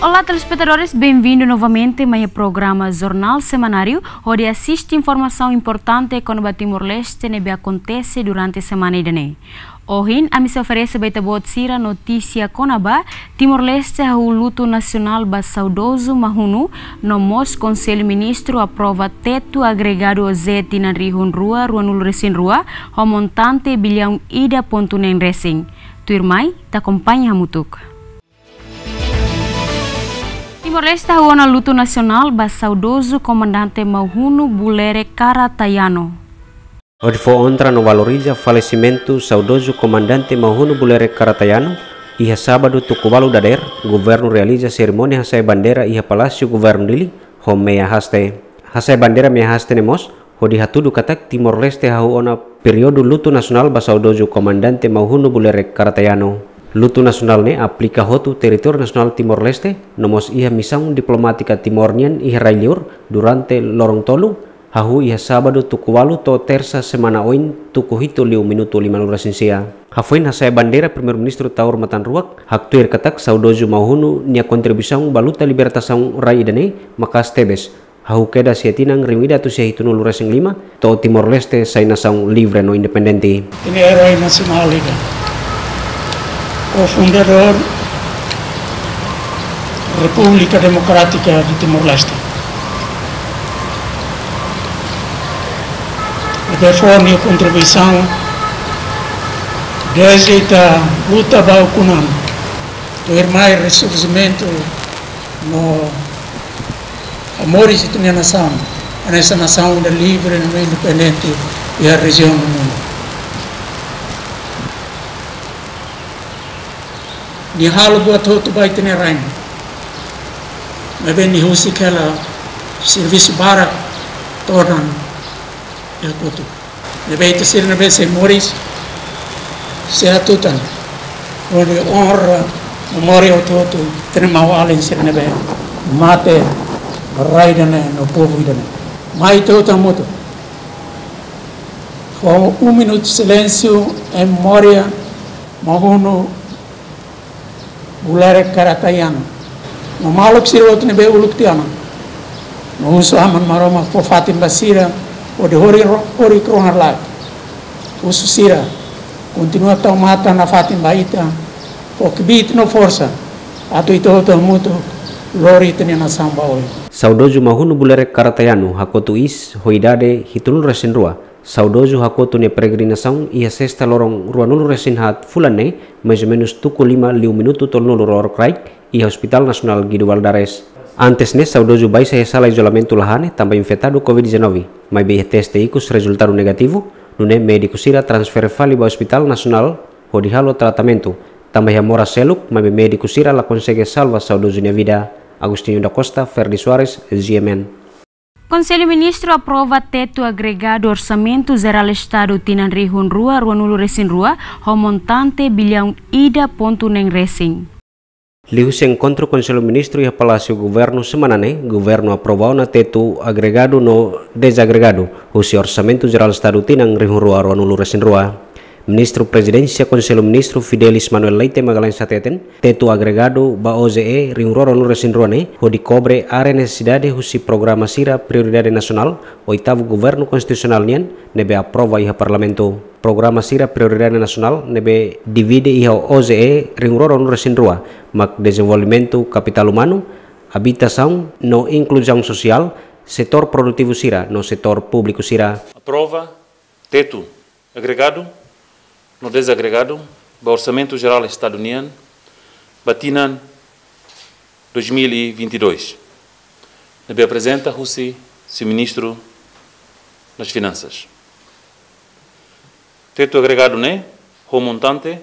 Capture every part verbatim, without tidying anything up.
Olá, telespetadores, bem-vindo novamente mai programa Jornal Semanáriu, hodi asiste informasaun importante kona-ba Timor-Leste ne'ebé akontese durante semana ida-ne'e. Ohin, ami sei oferese ba ita-boot sira notísia kona-ba Timor-Leste hahú lutu nasionál ba saudozu Mahunu, no mós Konsellu Ministru aprova tetu agregadu OJE tinan rihun rua ruanulu resin rua, ho montante biliaun ida pontu neen resin. Tuirmai, ita akompaña hamutuk. Timor-Leste hahú ona lutu nasionál ba saudozu Komandante Mahunu Bulerek Karatayano. Hodi fó onra no valoriza falesimentu saudozu Komandante Mahunu Bulerek Karatayano, iha sábadu tuku ualu dadeer, governu realiza serimónia hasa'e bandeira iha Palásiu Governu Dili, ho meia haste. Hasa'e bandeira meia haste ne'e mós hodi hatudu katak Timor-Leste hahú ona períodu lutu nasionál ba saudozu Komandante Mahunu Bulerek Karatayano. Lutu nasionál ne'e aplika hotu territóriu nasionál Timor-Leste, no mós iha misaun diplomátika Timor nian iha rai-liur durante loron tolu, hahú iha sábadu tuku ualu to'o tersa semana oin tuku hitu liu minutu limanulu resin sia. Hafoin hasa'e bandeira, Primeiru-Ministru Taur Matan Ruak haktuir katak saudozu Mahunu nia kontribuisaun ba luta libertasaun rai ida-ne'e maka'as tebes, hahú kedas iha tinan rihun ida atus sia hitunulu resin lima, to'o Timor-Leste sai nasaun livre no independente. Ita-nia eroi nasionál ida, kofundadór Repúblika Demokrátika de Timor-Leste. Ne'ebé fó nia kontribuisaun dezde ita luta ba ukun an, tuirmai resurjimentu no hamoris ita-nia nasaun, hanesan nasaun ida livre no independente iha rejiaun no mundu. Nia halo buat hotu ba ita-nia rain. Maibé nia husik hela servisu barak todan iha kotuk. Ne'ebé ita sira ne'ebé sei moris, sei hatutan hodi onra memória hotu-hotu ita-nia maun-alin sira ne'ebé mate ba rai ida-ne'e no povu ida-ne'e. Mai ita hotu hamutuk fó um minuto de silêncio em memória Mahunu Bulerek Karatayano. No maluk sira hotu ne'ebé uluk tiha ona. No husu Aman Maromak fó fatin ba sira, hodi hori ro-, hori kronar laek. Husu sira kontinua tau matan nafatin ba ita, fó kbiit no forsa atu ita hotu hamutuk lori ita-nia nasaun ba oin. Saudozu Mahunu Bulerek Karatayano hakotu iis ho idade hitunulu resin rua. Saudozu hakotu nia peregrinasaun iha sesta loron ruanulu resin haat fulan ne'e, mais ou menus tuku lima liu minutu tolunulu rorokraik, iha Hospital Nasionál Guido Valadares. Antes ne'e, saudozu baixa iha sala izolamentu la hane tanba infetadu covid dezanove, maibé iha teste ikus rezultadu negativu, nune'e médiku sira transfere fali ba Hospital Nasionál hodi halo tratamentu, tanba iha moras seluk, maibé médiku sira la konsege salva saudozu nia vida. Agostinho da Costa, Ferdi Soares, G M N. Konsellu Ministru aprova tetu agregadu Orsamentu Jerál Estadu tinan rihun rua ruanulu resin rua, ho montante biliaun ida pontu neen resin. Liuhusi enkontru Konsellu Ministru iha Palásiu Governu semana ne'e, Governu aprova ona tetu agregadu no dezagregadu husi Orsamentu Jerál Estadu tinan rihun rua ruanulu resin rua. Ministru Prezidénsia Konsellu Ministru Fidelis Manuel Leite Magalhães hateten, tetu agregadu ba OJE rihun rua ruanulu resin rua ne'e hodi kobre área nesesidade husi programa sira prioridade nasionál oitavu Governu Konstitusionál nian ne'ebé aprova iha Parlamentu. Programa sira prioridade nasionál ne'ebé divide iha OJE rihun rua ruanulu resin rua mak dezenvolvimentu kapitál umanu, abitasaun no inkluzaun sosiál, setór produtivu sira no setór públiku sira. Aprova tetu agregadu no dezagregadu ba Orsamentu Jerál Estadu nian ba tinan dois mil e vinte e dois, ne'ebé aprezenta husi Señór Ministru das Finansas. Tetu agregadu ne'e ho montante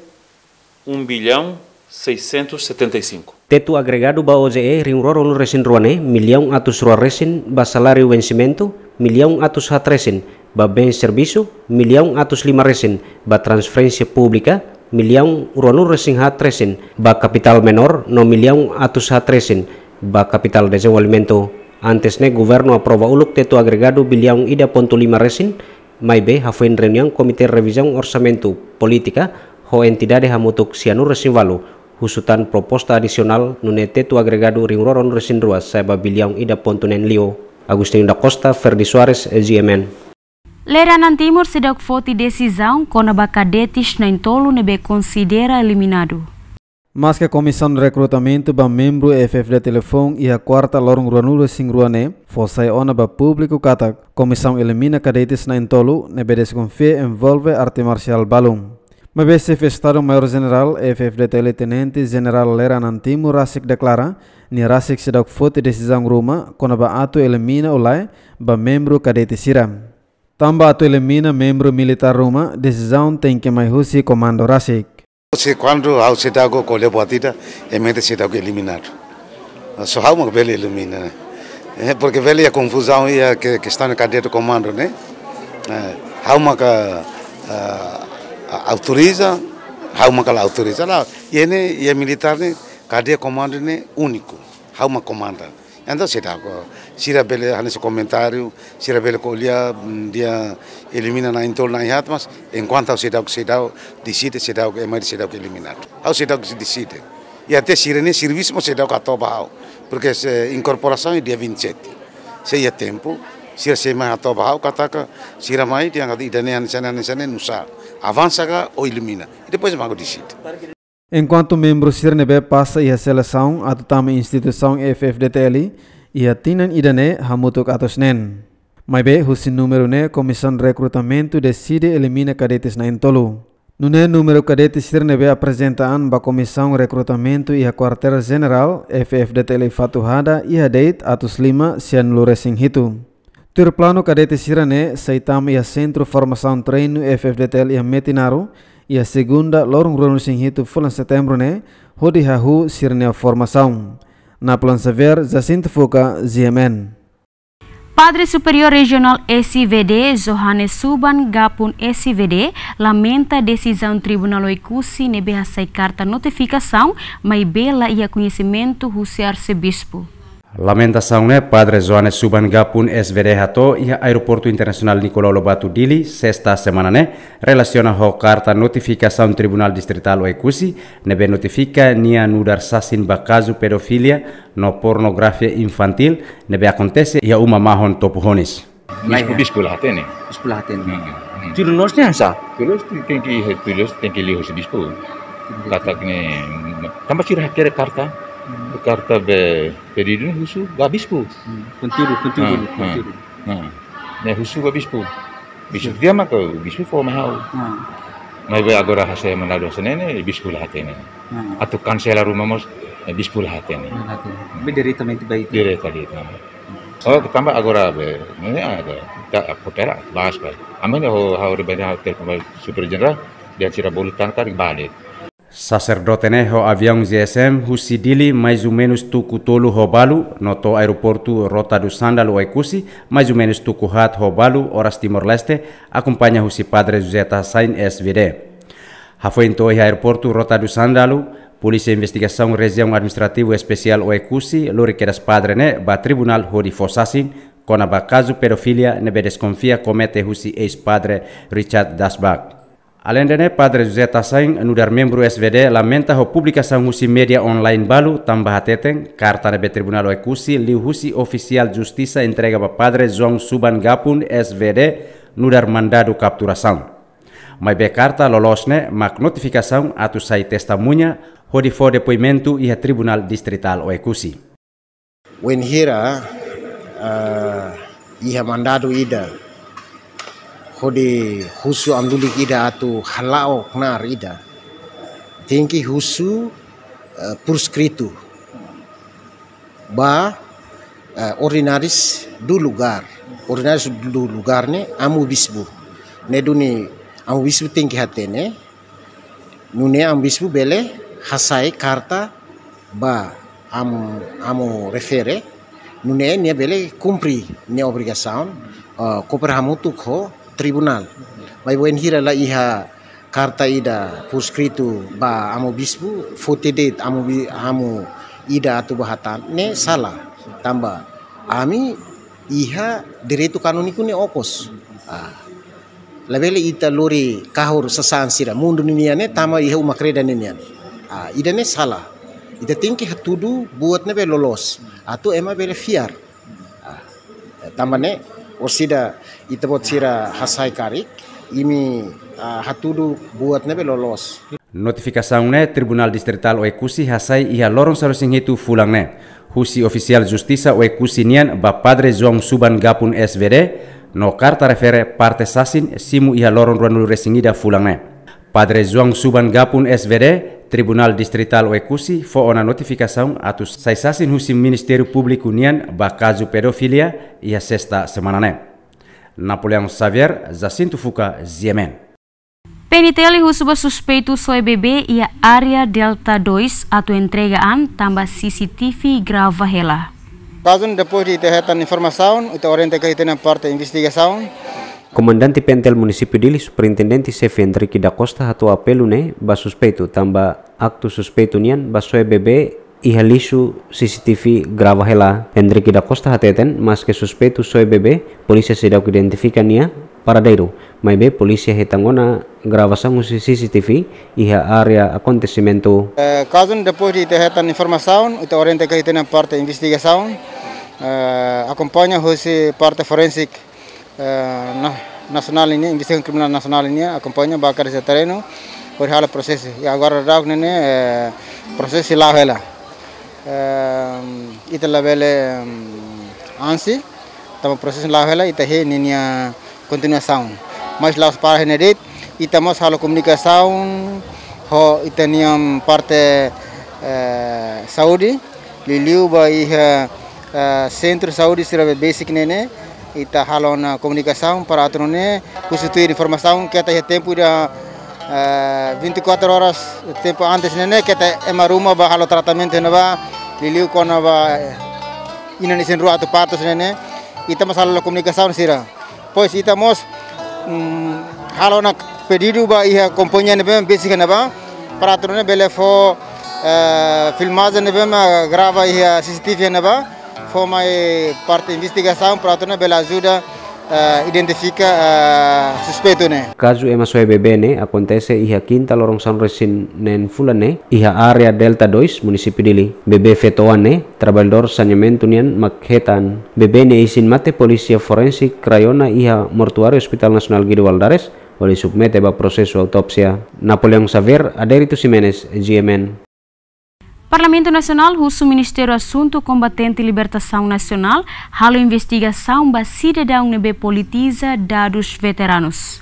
um bilhão seiscentos e setenta e cinco. Tetu agregadu ba OJE rihun rua ruanulu resin rua ne'e, millaun atus rua resin ba saláriu vensimentu, millaun atus haat resin ba bens servisu, millaun atus lima resin ba transferénsia públika, millaun ruanulu resin haat resin ba kapitál menór, no millaun atus haat resin ba kapitál dezenvolvimentu. Antes ne'e, Governu aprova uluk tetu agregadu biliaun ida pontu lima resin, maibé hafoin reuniaun Komité Revizaun Orsamentu Polítika ho entidade hamutuk sianulu resin ualu, Husu tan proposta adisionál nune'e tetu agregadu rihun rua ruanulu-resin-rua sai ba biliaun ida pontu neen liu. Agostinho da Costa, Ferdi Soares, G M N. Lere Anan Timur seidauk foti desizaun kona-ba kadetes na'in-tolu ne'ebé konsidera eliminadu. Maske Komisaun Rekrutamentu ba membru F F D T L foun iha kuarta loron ruanulu-resin-rua ne'e fó sai ona ba públiku katak komisaun elimina kadetes na'in-tolu ne'ebé deskonfia envolve arte marsiál balu. Maibé Xefe Estadu Maiór Jenerál F F D T L Tenente Jenerál Lere Anan Timur rasik deklara, nia rasik seidauk foti desizaun ruma kona-ba atu elimina ou lae ba membru kadete sira. Tanba atu elimina membru militár ruma, desizaun tenke mai husi komandu rasik. Se kuandu ha'u seidauk ko'alia buat ida, ema ida seidauk eliminadu. Só ha'u mak bele elimina, ne'e. Eh, porke bele iha konfuzaun iha ke-, kestaun kadete komandu, ne'e. Eh, ha'u maka, eh, autoriza, ha'u maka la autoriza. La, iha ne'e, iha militár ne'e, kadeia komandu ne'e úniku. Ha'u mak komanda. Entaun seidauk, sira bele hanesan komentáriu, sira bele ko'alia, mm, dehan elimina na'in-tolu na'in-haat, mas enkuantu ha'u seidauk, seidauk deside, seidauk, ema ida seidauk eliminadu. Ha'u seidauk deside. I até sira-nia servisu mós seidauk hato'o ba ha'u. Porke se inkorporasaun é dia vinte e sete. Se iha tempu, sira sei mai hato'o ba ha'u katak sira mai dehan ida-ne'e hanesan ne'e, hanesan ne'e, nusá. Avansa ka ou elimina. I depois mak ha'u deside. Enkuantu membru sira ne'ebé pasa iha selesaun atu tama instituisaun F F D T L iha tinan ida-ne'e hamutuk atus neen. Maibé husi númeru ne'e Komisaun Rekrutamentu deside elimina kadetes na'in-tolu. Nune'e númeru kadete sira ne'ebé aprezenta an ba Komisaun Rekrutamentu iha Kuartél Jenerál F F D T L Fatuhada iha de'it atus lima sianulu-resin-hitu. Tuir planu kadete sira-ne'e sei tama iha Sentru Formasaun Treinu F F D T L iha Metinaro, iha segunda loron ruanulu-resin-hitu fulan Setembru ne'e, hodi hahú sira-nia formasaun. Napoleon Xavier, Jacinto Fuca, G M N. Padre Superiór Rejionál S V D, Johannes Suban Gapun S V D, lamenta desizaun Tribunál Oekusi ne'ebé hasai karta notifikasaun, maibé la iha koñesimentu husi Arsebispu. Lamentasaun ne'e Padre Johannes Suban Gapun S V D hato'o iha Aeroportu Internasionál Nicolau Lobato Dili, sesta semana ne'e, relasiona ho karta notifikasaun Tribunál Distritál Oekusi, ne'ebé notifika nia nu'udar sasin ba kazu pedofilia no pornografia infantíl, ne'ebé akontese iha uma mahon Topo Honis. Bispu, bispu la hatene. Bispu la hatene. Hmm, hmm. Tuir loos ne'e hanesan? Tuir loos tenke, tuir loos tenke liu husi bispu. Katak ne'e, tanba sira hakerek karta. Hmm. Karta be pedidu ne'e husu ba bispu. Hmm. Konteúdu, konteúdu, hmm, konteúdu. Hmm. Ne'e husu ba bispu. Bispu, hmm, dehan maka bispu fó mai ha'u. Hmm. Maibé agora hasai mandadu hanesan ne'e, bispu la hatene. Hmm. Atu kansela ruma mós, eh, bispu la hatene. La hatene. Hmm. Be diretamente ba ita. Diretamente. Oh, tanba agora be, ne'e ada, ita koopera, bahas ba. Ami ne'e ho, ha'u rebende ha'u telefone ba Superiór Jenerál, dehan sira bolu tan karik balik. Saserdote ne'e ho aviaun G S M husi Dili mais ou menus tuku tolu ho balu, no to'o aeroportu Rota do Sândalo Oekusi, mais ou menus tuku haat ho balu, oras Timor-Leste, akompaña husi Padre José Tassain S V D. Hafoin to'o iha aeroportu Rota do Sândalo, Polísia Investigasaun Rejiaun Administrativu Espesiál Oekusi lori kedas padre ne'e ba tribunál hodi fó sasin kona-ba kazu pedofilia ne'ebé deskonfia komete husi eis-padre Richard Dasbach. Aleinde ne'e, Padre José Tassain, nu'udar membru S V D, lamenta ho publikasaun husi média online balu, tanba hateten karta ne'ebé Tribunál Oekusi liu husi ofisiál justisa entrega ba Padre João Suban Gapun S V D, nu'udar mandadu kapturasaun. Maibé karta loloos ne'e mak notifikasaun atu sai testemuña hodi fó depoimentu iha Tribunál Distritál Oekusi. Wainhira, ah, iha mandadu ida hodi husu amu-lulik ida atu hala'o knaar ida, tenke husu, ah, por escrito ba, eh, ordinárius do lugar. Ordinárius do lugar ne'e amu-bispu. Ne'e duni amu-bispu tenke hatene. Nune'e amu-bispu bele hasai karta ba amu, amu refere. Nune'e nia bele kumpre nia obrigasaun, eh, koopera hamutuk ho tribunál. Maibé wainhira la iha karta ida por escrito ba amu-bispu, foti de'it amu bi-, amu ida atu ba hatán, ne'e sala. Tanba ami iha direitu kanóniku ne'e okos. Ah. Labele ita lori kahur sasán sira. Mundu ninian ne'e tama iha uma-kreda ninian. Ah, ida-ne'e sala. Ita tenke hatudu buat ne'ebé loloos. Atu ema bele fiar. Ah, tanba ne'e, orsida ita-boot sira hasai karik, imi, ah, hatudu buat ne'ebé loloos. Notifikasaun ne'e Tribunál Distritál Oekusi hasai iha loron sanulu-resin-hitu fulan ne'e, husi ofisiál justisa Oekusi nian ba Padre João Suban Gapun S V D, no karta refere parte sasin simu iha loron ruanulu-resin-ida fulan ne'e. Padre João Suban Gapun S V D, Tribunál Distritál Oekusi fó ona notifikasaun atu sai sasin husi Ministériu Públiku nian ba kazu pedofilia iha sesta semana ne'e. Napoleão Xavier, Jacinto Fuca, G M N. P N T L husu ba suspeitu soe bebé iha área Delta dois atu entrega an tanba C C T V grava hela. Kazu ne'e depois de ita hetan informasaun, ita orienta katak ita-nia parte investigasaun. Komandante P N T L Munisípiu Dili, Superintendente Xefe Henrique da Costa hato'o apelu ne'e ba suspeitu tanba aktu suspeitu nian ba soe bebé iha lixu C C T V grava hela. Henrique da Costa hateten, maske suspeitu soe bebé, polísia seidauk identifika nia paradeiru, maibé polísia hetan ona gravasaun husi C C T V iha área akontesimentu. Eh, kazu ne'e depois de ita hetan informasaun, ita orienta katak ita-nia parte investigasaun, eh, akompaña husi parte forensik, eh, na-, nasionál nian, investigasaun kriminál nasionál nian, akompaña ba kada se terrenu, hodi halo prosesu. I agora daudaun ne'e, eh, prosesu sei la'o hela. Eh, ita labele, em, ansi, tanba prosesu la'o hela, ita hein ninia kontinuasaun. Mas la'ós para iha ne'e de'it, ita mós halo komunikasaun ho ita-nia parte, eh, saúde, liuliu ba iha, eh, sentru saúde sira be besik ne'e ne'e, ita halo ona komunikasaun para atu nune'e, husu tuir informasaun katak iha tempu ida, eh, vinte e quatro horas tempu antes ne'e ne'e, katak ema ruma ba halo tratamentu ne'ebá, liuliu kona-ba, eh, inan isin-rua atu partu ne'e ne'e, ita mós halo komunikasaun sira. Pois ita mós, mm, halo ona pedidu ba iha kompañia ne'ebé besik ne'ebá, para atu nune'e bele fó, eh, filmajen ne'ebé mak grava iha C C T V ne'ebá, fó mai parte investigasaun para atu nune'e bele ajuda, eh, identifika, eh, suspeitu ne'e. Kazu ema soe bebé ne'e akontese iha kinta loron sanulu-resin-neen fulan ne'e, iha área Delta dois, Munisípiu Dili. Bebé feto-oan ne'e, traballadór saneamentu nian mak hetan. Bebé nia isin-mate polísia forensik rai ona iha mortuáriu Hospital Nasionál Guido Valadares, hodi submete ba prosesu autópsia. Napoleão Xavier, Adérito Ximenes, G M N. Parlamentu Nasionál husu Ministériu Asuntu Kombatente Libertasaun Nasionál halo investigasaun ba sidadaun ne'ebé politiza dadus veteranus.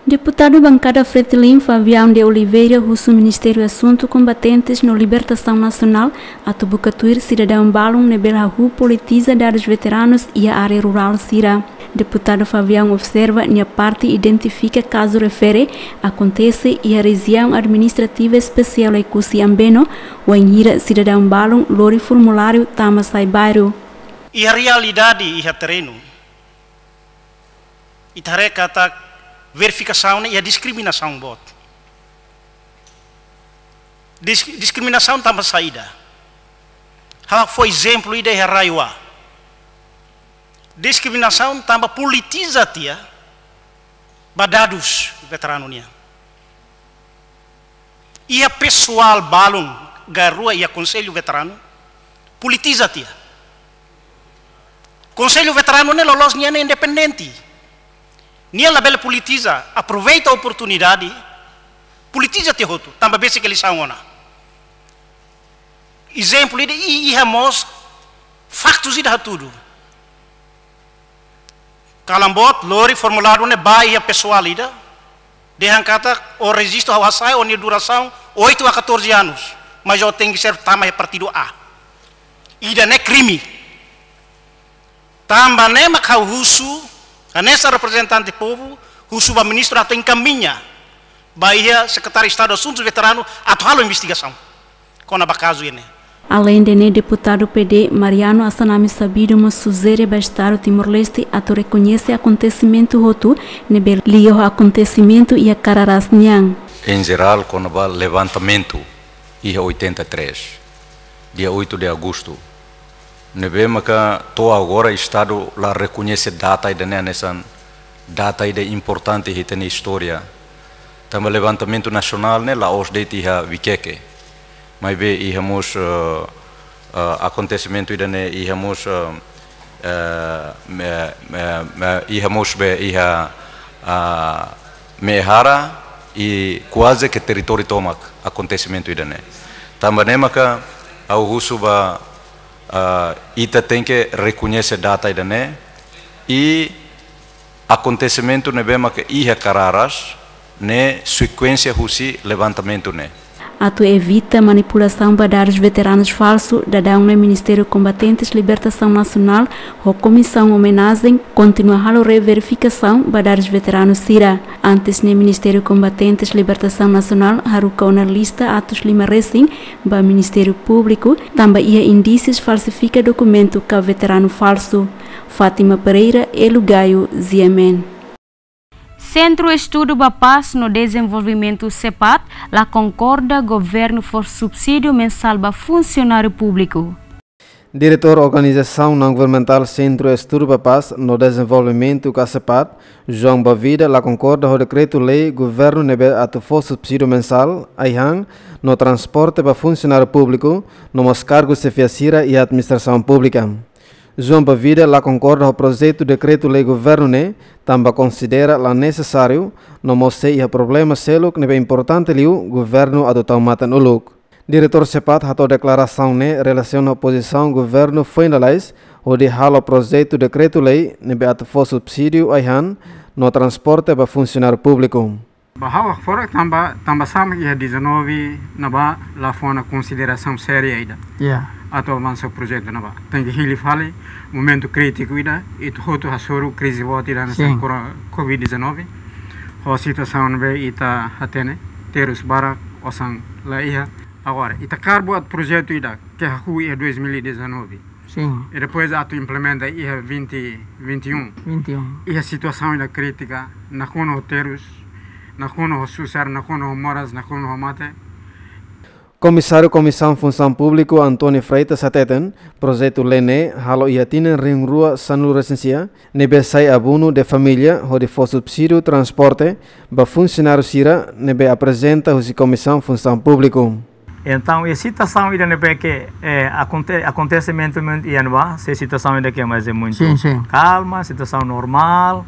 Deputadu Bankada Fretilin, Fabião de Oliveira, husu Ministériu Asuntu Kombatentes no Libertasaun Nasionál atu buka tuir sidadaun balun ne'ebé hahú politiza dadus veteranus iha área rurál sira. Deputadu Fabião observa nia parte identifika kazu refere akontese iha Rejiaun Administrativa Espesiál Oekusi Ambeno, wainhira sidadaun balun lori formuláriu tama sai bairru. Iha realidade iha terrenu, ita haree katak verifikasaun ne'e iha diskriminasaun boot. Dis-, diskriminasaun tanba saida? Ha'u fó ezemplu ida iha RAEOA. Diskriminasaun tanba politiza tiha ba dadus veteranu nian. Iha pesoál balun GAERUA iha Konsellu Veteranu politiza tiha. Konsellu Veteranu ne'e loloos nia ne'e independente. Nia labele politiza, aproveita oportunidade, politiza tiha hotu, tanba besik eleisaun ona. Ezemplu ida, i-, iha mós faktus ida hatudu. Kalan boot, lori formuláriu ne'e ba iha pesoál ida, dehan katak ó rejistu ha'u hasai, ó-nia durasaun oito a catorze anos, mas ó tenke ser tama iha partidu A. Ida-ne'e krime. Tanba ne'e mak ha'u husu, hanesan reprezentante povu, husu ba ministru atu enkamiña ba iha Sekretáriu Estadu Asuntus Veteranu atu halo investigasaun kona-ba kazu ne'e. Aleinde ne'e, deputadu P D Mariano Assanami Sabido mós sujere ba Estadu Timor-Leste atu rekoñese akontesimentu hotu ne'ebé liga ho akontesimentu iha Cararás nian. Em geral, kona-ba levantamentu iha oitenta e três, dia oito de agosto, ne'ebé maka to'o agora Estadu la rekoñese data ida-ne'e hanesan data ida importante iha ita-nia istória. Tanba levantamentu nasionál ne'e la'ós de'it iha Vikeke. Maibé iha mós, eh, eh, akontesimentu ida-ne'e iha mós, eh, eh, me, me, me, iha mós be iha, ah, Mehara i kuaze ke territóriu tomak akontesimentu ida-ne'e. Tanba ne'e maka ha'u husu ba, ah, ita tenke rekoñese data ida-ne'e i akontesimentu ne'ebé maka iha kararas ne'e sekuénsia husi levantamentu ne'e. Atu evita manipulasaun ba dadus veteranus falsu, daudaun ne'e Ministériu Kombatentes Libertasaun Nasionál ho Komisaun Omenajen kontinua halo reverifikasaun ba dadus veteranus sira. Antes ne'e Ministériu Kombatentes Libertasaun Nasionál haruka ona lista atus lima resin ba Ministériu Públiku, tanba iha indísius falsifika dokumentu ka veteranu falsu. Fátima Pereira, Elu Gayo, G M N. Sentru Estudu ba Pás no Dezenvolvimentu, SEPAD, la konkorda governu fó subsídiu mensál ba funsionáriu públiku. Diretór Organizasaun Naun-Governamentál Sentru Estudu ba Pás no Dezenvolvimentu ka SEPAD, João Bavida, la konkorda ho dekretu-lei governu ne'ebé atu fó subsídiu mensál, ai-han, no transporte ba funsionáriu públiku, no mós kargu xefia sira iha administrasaun públika. João Bavida la konkorda ho projetu dekretu-lei governu ne'e, tanba konsidera la nesesáriu, no mós sei iha problema seluk ne'ebé importante liu governu atu tau matan uluk. Diretór SEPAD hato'o deklarasaun ne'e relasiona ho pozisaun governu foin lalais hodi halo projetu dekretu-lei ne'ebé atu fó subsídiu ai-han no transporte ba funsionáriu públiku. Ba ha'u hakfodak tanba, tanba sá mak iha dezanove ne'ebá la fó ona konsiderasaun séria ida. Ya. Atu avansa projetu ne'ebá. Tenke hili fali, momentu krítiku ida, ita hotu hasoru krize boot ida hanesan, sin, kora-, covid dezanove. Ho situasaun ne'ebé ita hatene, terus barak, osan la iha. Agora, ita hakarak buat projetu ida ke hahú iha dois mil e dezanove. Sin. I depois atu implementa iha vinte, vinte e um. Vinte e um. Iha situasaun ida krítika, nakonu ho terus, nakonu ho susar, nakonu ho moras, nakonu ho mate. Komisáriu Komisaun Funsaun Públiku António Freitas hateten, projetu-lei ne'e halo iha tinan rihun rua sanulu resin sia, ne'ebé sai abonu de família hodi fó subsídiu transporte ba funsionáriu sira ne'ebé aprezenta husi Komisaun Funsaun Públiku. Entaun, iha situasaun ida ne'ebé ke, eh, akonte-, akontesimentu iha ne'ebá, sei situasaun ida ke mais é muito, sin, sin, kalma, situasaun normál.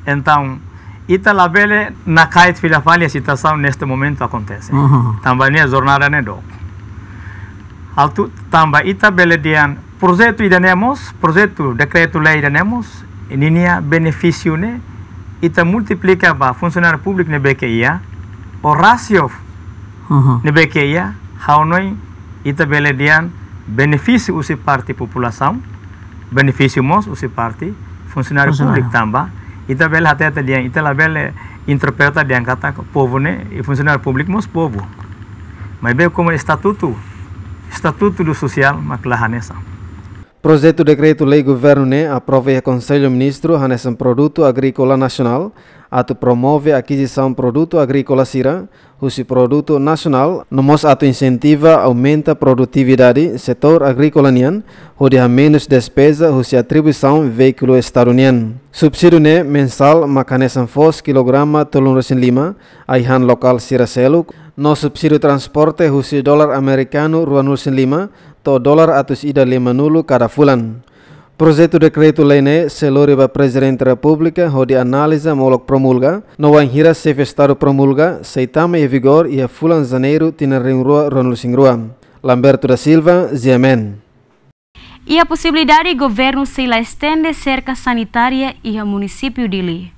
Entaun, ita labele nakait fila fali iha situasaun neste momentu akontese. Uhum. Tanba nia jornada ne'e dook. Atu tanba ita bele dehan projetu ida-ne'e mós, projetu dekretu-lei ida-ne'e mós, ninia benefísiu ne'e, ita multiplika ba funsionáriu públiku ne'ebé ke iha, ou rasio, uhum, ne'ebé ke iha, ha'u hanoin ita bele dehan benefísiu husi parte populasaun, benefísiu mós husi parte funsionáriu, funsionáriu públiku tanba, ita bele hatete dehan, ita labele interpreta dehan katak povu ne'e, i funsionáriu públiku mós povu. Maibé komu estatutu, estatutu do sosiál, mak la hanesan. Projetu dekretu-lei governu ne'e aprova iha Konsellu Ministru hanesan produtu agríkola nasionál, atu promove akizisaun produtu agríkola sira, husi produtu nasionál, no mós atu insentiva aumenta produtividade setór agríkola nian, hodi hamenus despeza husi atribuisaun veíkulu Estadu nian. Subsídiu ne'e mensál mak hanesan foos kilograma tolunulu resin lima, ai-han lokál sira seluk, no subsídiu transporte husi dolar amerikanu ruanulu resin lima, to'o dolar atus ida limanulu kada fulan. Projetu dekretu-lei ne'e sei lori ba Prezidente Repúblika hodi analiza molok promulga, no wainhira Xefe Estadu promulga, sei tama iha vigór iha fulan Janeiru tinan rihun rua ruanulu resin rua. Lamberto da Silva, G M N. Iha posibilidade governu sei la estende serka sanitária iha munisípiu Dili.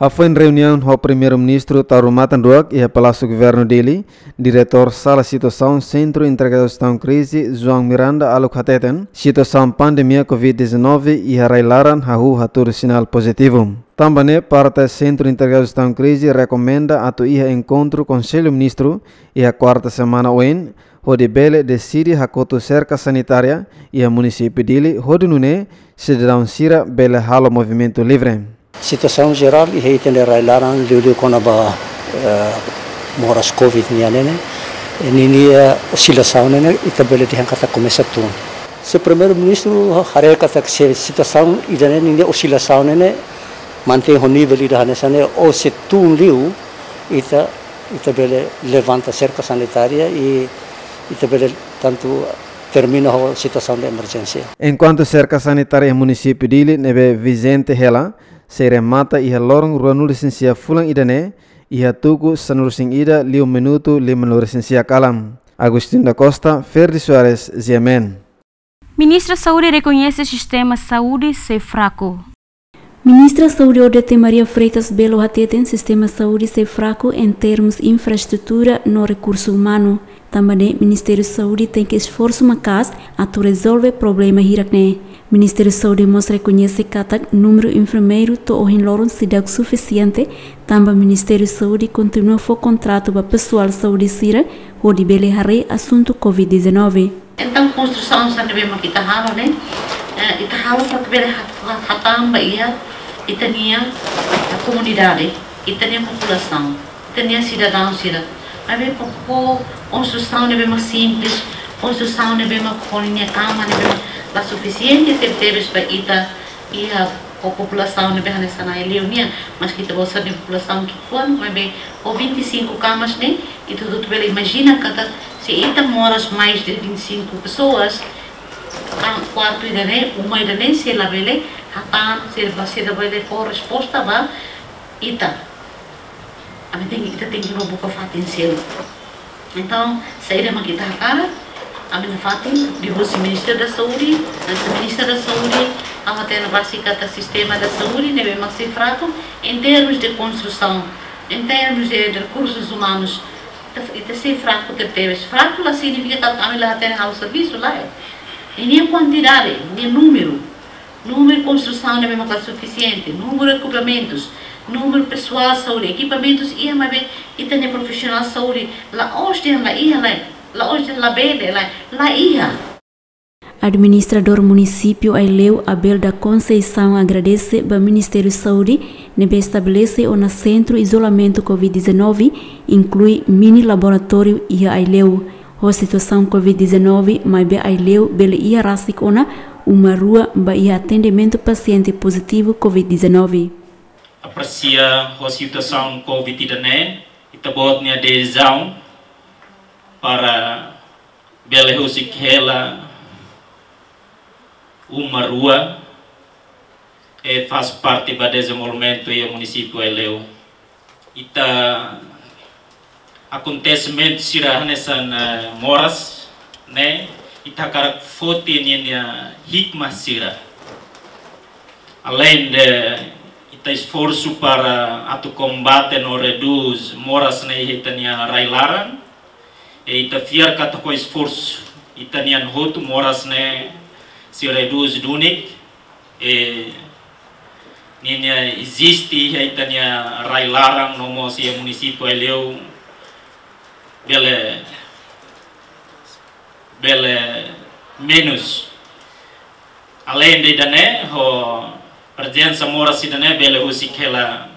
Hafoin reuniaun ho Primeiru-Ministru Taur Matan Ruak iha Palásiu Governu Dili, Diretór Sala Situasaun Sentru Integradu Jestaun Krize, João Miranda Aluk hateten, situasaun pandemia covid dezanove iha rai-laran hahú hatudu sinál pozitivu. Tanba ne'e parte Sentru Integradu Jestaun Krize rekomenda atu iha enkontru Konsellu Ministru iha kuarta semana oin, hodi bele deside hakotu serka sanitária iha munisípiu Dili, hodi nune'e sidadaun sira bele halo movimentu livre. Situasaun jerál iha ita-nia rai-laran liuliu kona-ba, eh, moras covid nian ne'e, ninia, eh, osilasaun ne'e, ita bele dehan katak komesa tun. Se Primeiru-Ministru haree katak se situasaun ida-ne'e ninia osilasaun ne'e mantein ho nivel ida hanesan ne'e ou se tun liu, ita, ita bele levanta serka sanitária i Ita bele tantu termina ho situasaun de emerjénsia. Enkuantu serka sanitária iha munisípiu Dili ne'ebé vijente hela, sei remata iha loron ruanulu-resin-sia fulan ida-ne'e, iha tuku sanulu-resin-ida liu minutu limanulu-resin-sia kalan. Agostinho da Costa, Ferdi Soares, G M N. Ministra Saúde rekoñese sistema saúde sei fraku. Ministra Saúde Odete Maria Freitas Belo hateten sistema saúde sei fraku en termus infraestrutura no rekursu umanu. Tanba ne'e Ministériu Saúde tenke esforsu maka'as atu rezolve problema hirak-ne'e. Ministériu Saúde mós rekoñese katak númeru enfermeiru to'o ohin loron seidauk sufisiente, tanba Ministériu Saúde kontinua fó kontratu ba pesoál saúde sira hodi bele haree asuntu covid dezanove. Entaun, konstrusaun sira ne'ebé mak ita halo ne'e, eh, ita halo para bele hat-, hat-, hatán ba iha ita-nia, eh, komunidade, ita-nia populasaun, ita-nia sidadaun sira. Maibé para konstrusaun ne'ebé mak simples, konstrusaun ne'ebé mak ho ninia kama ne'ebé mak la sufisiente tebetebes ba ita iha ho populasaun ne'ebé hanesan Aileu nian, maski ita-boot sira-nia populasaun ki'ikoan, maibé ho vinte e cinco kamas ne'e, ita hotu bele imajina katak se ita moras mais de vinte e cinco pessoas, ah, kuartu ida-ne'e, uma ida-ne'e, sei la bele hatán, sei la, sei la bele fó resposta ba ita. Ami tenke, ita tenke bá buka fatin seluk. Entaun, saida mak ita hakarak, ami nafatin, liuhusi Ministériu da Saúde, hanesan Ministra da Saúde, ha'u hatene rasik katak sistema da saúde ne'ebé mak sei fraku en termus de konstrusaun, en termus de, de rekursus umanus. Ita, ita sei fraku tebetebes. Fraku la signifika katak ami la hatene halo servisu, lae. Ninia kuantidade, ninia númeru, númeru konstrusaun ne'ebé mak la sufisiente, númeru ekipamentus, númeru pesoál saúde, ekipamentus iha, maibé ita-nia profisionál saúde la'ós dehan la iha, lae, la'ós dehan labele, lae, la iha. Administradór Munisípiu Aileu, Abel da Conceição, agradese ba Ministériu Saúde ne'ebé estabelese ona sentru izolamentu covid dezanove, inklui mini laboratóriu iha Aileu. Ho situasaun covid dezanove, maibé Aileu bele iha rasik ona uma rua ba iha atendimentu pasiente pozitivu covid dezanove. Apresia ho situasaun covid ida-ne'e, ita-boot nia desizaun para bele husik hela uma rua, eh, faz parte ba dezenvolvimentu iha munisípiu Aileu. Ita akontesimentu sira hanesan, eh, moras ne'e, ita hakarak foti ninia hikmah sira. Além de ita esforsu para atu kombate no redús moras ne'e iha ita-nia rai-laran, e ita fiar katak ho esforsu ita-nian hotu moras ne'e sei redús duni, e ninia eziste iha ita-nia rai-laran no mós iha munisípiu Aileu bele, bele menus. Além de ida-ne'e, ho prezensa moras ida-ne'e bele husik hela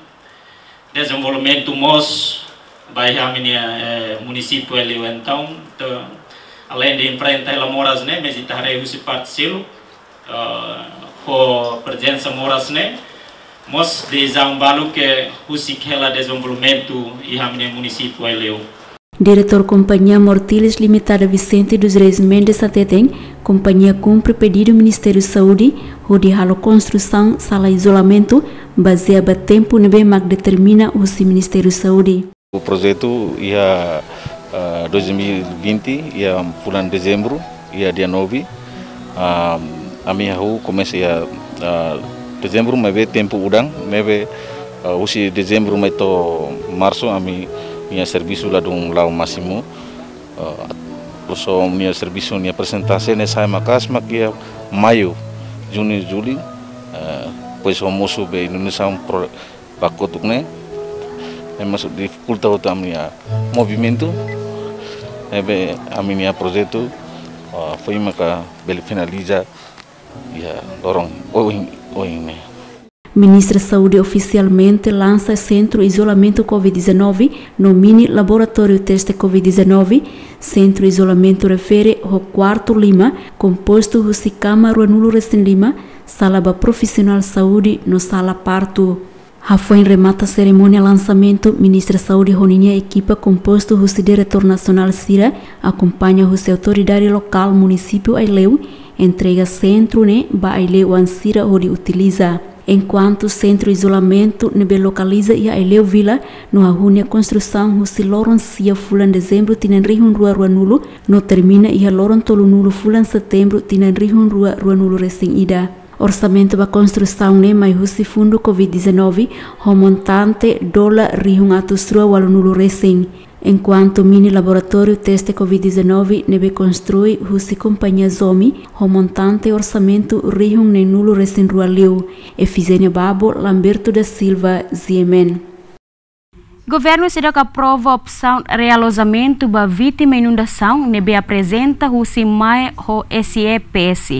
dezenvolvimentu mós ba iha ami-nia, eh, munisípiu Aileu. Entaun, entaun, além de enfrenta hela moras ne'e, mais ita haree husi parte seluk, eh, ho prezensa moras ne'e mós desizaun balu ke husik hela dezenvolvimentu iha ami-nia munisípiu Aileu. Diretór Kompañia Mortilis Limitada, Vicente dos Reis Mendes, hateten kompañia kumpre pedidu Ministériu Saúde hodi halo konstrusaun sala izolamentu bazeia ba tempu ne'ebé mak determina husi Ministériu Saúde. Projetu iha, ah, dois mil e vinte, iha fulan Dezembru, iha dia nove. Ah, ami hahú komesa iha, ah, Dezembru, maibé tempu udan, ne'ebé, ah, husi Dezembru mai to'o Marsu, ami-nia servisu ladún la'o másimu. Ah, husi ami-nia servisu nia porsentuál ne'e sa'e maka'as mak iha Maiu, Juñu, Juliu, ah, depois ho mosu be inundasaun pro-, ba kotuk ne'e, ne'e mós difikulta hotu ami-nia movimentu, ne'ebé ami-nia projetu, ah, foin maka bele finaliza iha loron ohin, ohin ne'e. Ministra Saúde ofisialmente lansa sentru izolamentu covid dezanove no mini laboratóriu teste covid dezanove. Sentru izolamentu refere ho kuartu lima, kompostu husi kama ruanulu-resin-lima, sala ba profisionál saúde no sala partu. Hafoin remata serimónia lansamentu, Ministra Saúde ho ninia ekipa kompostu husi diretór nasionál sira, akompaña husi autoridade lokál munisípiu Aileu, entrega sentru ne'e ba Aileu-oan sira hodi utiliza. Enkuantu sentru izolamentu ne'ebé lokaliza iha Aileu Vila, no hahú nia konstrusaun husi loron sia fulan Dezembru tinan rihun rua ruanulu, no termina iha loron tolunulu fulan Setembru tinan rihun rua ruanulu resin ida. Orsamentu ba konstrusaun ne'e mai husi fundu covid dezanove, ho montante dolar rihun atus rua ualunulu resin. Enkuantu mini laboratóriu teste covid dezanove ne'ebé konstrui husi kompañia Zomi, ho montante orsamentu rihun neenulu resin rua liu. Efigénia Babo, Lamberto da Silva, G M N. Governu seidauk aprova opsaun realojamentu ba vítima inundasaun ne'ebé aprezenta husi MAE ho S E P S.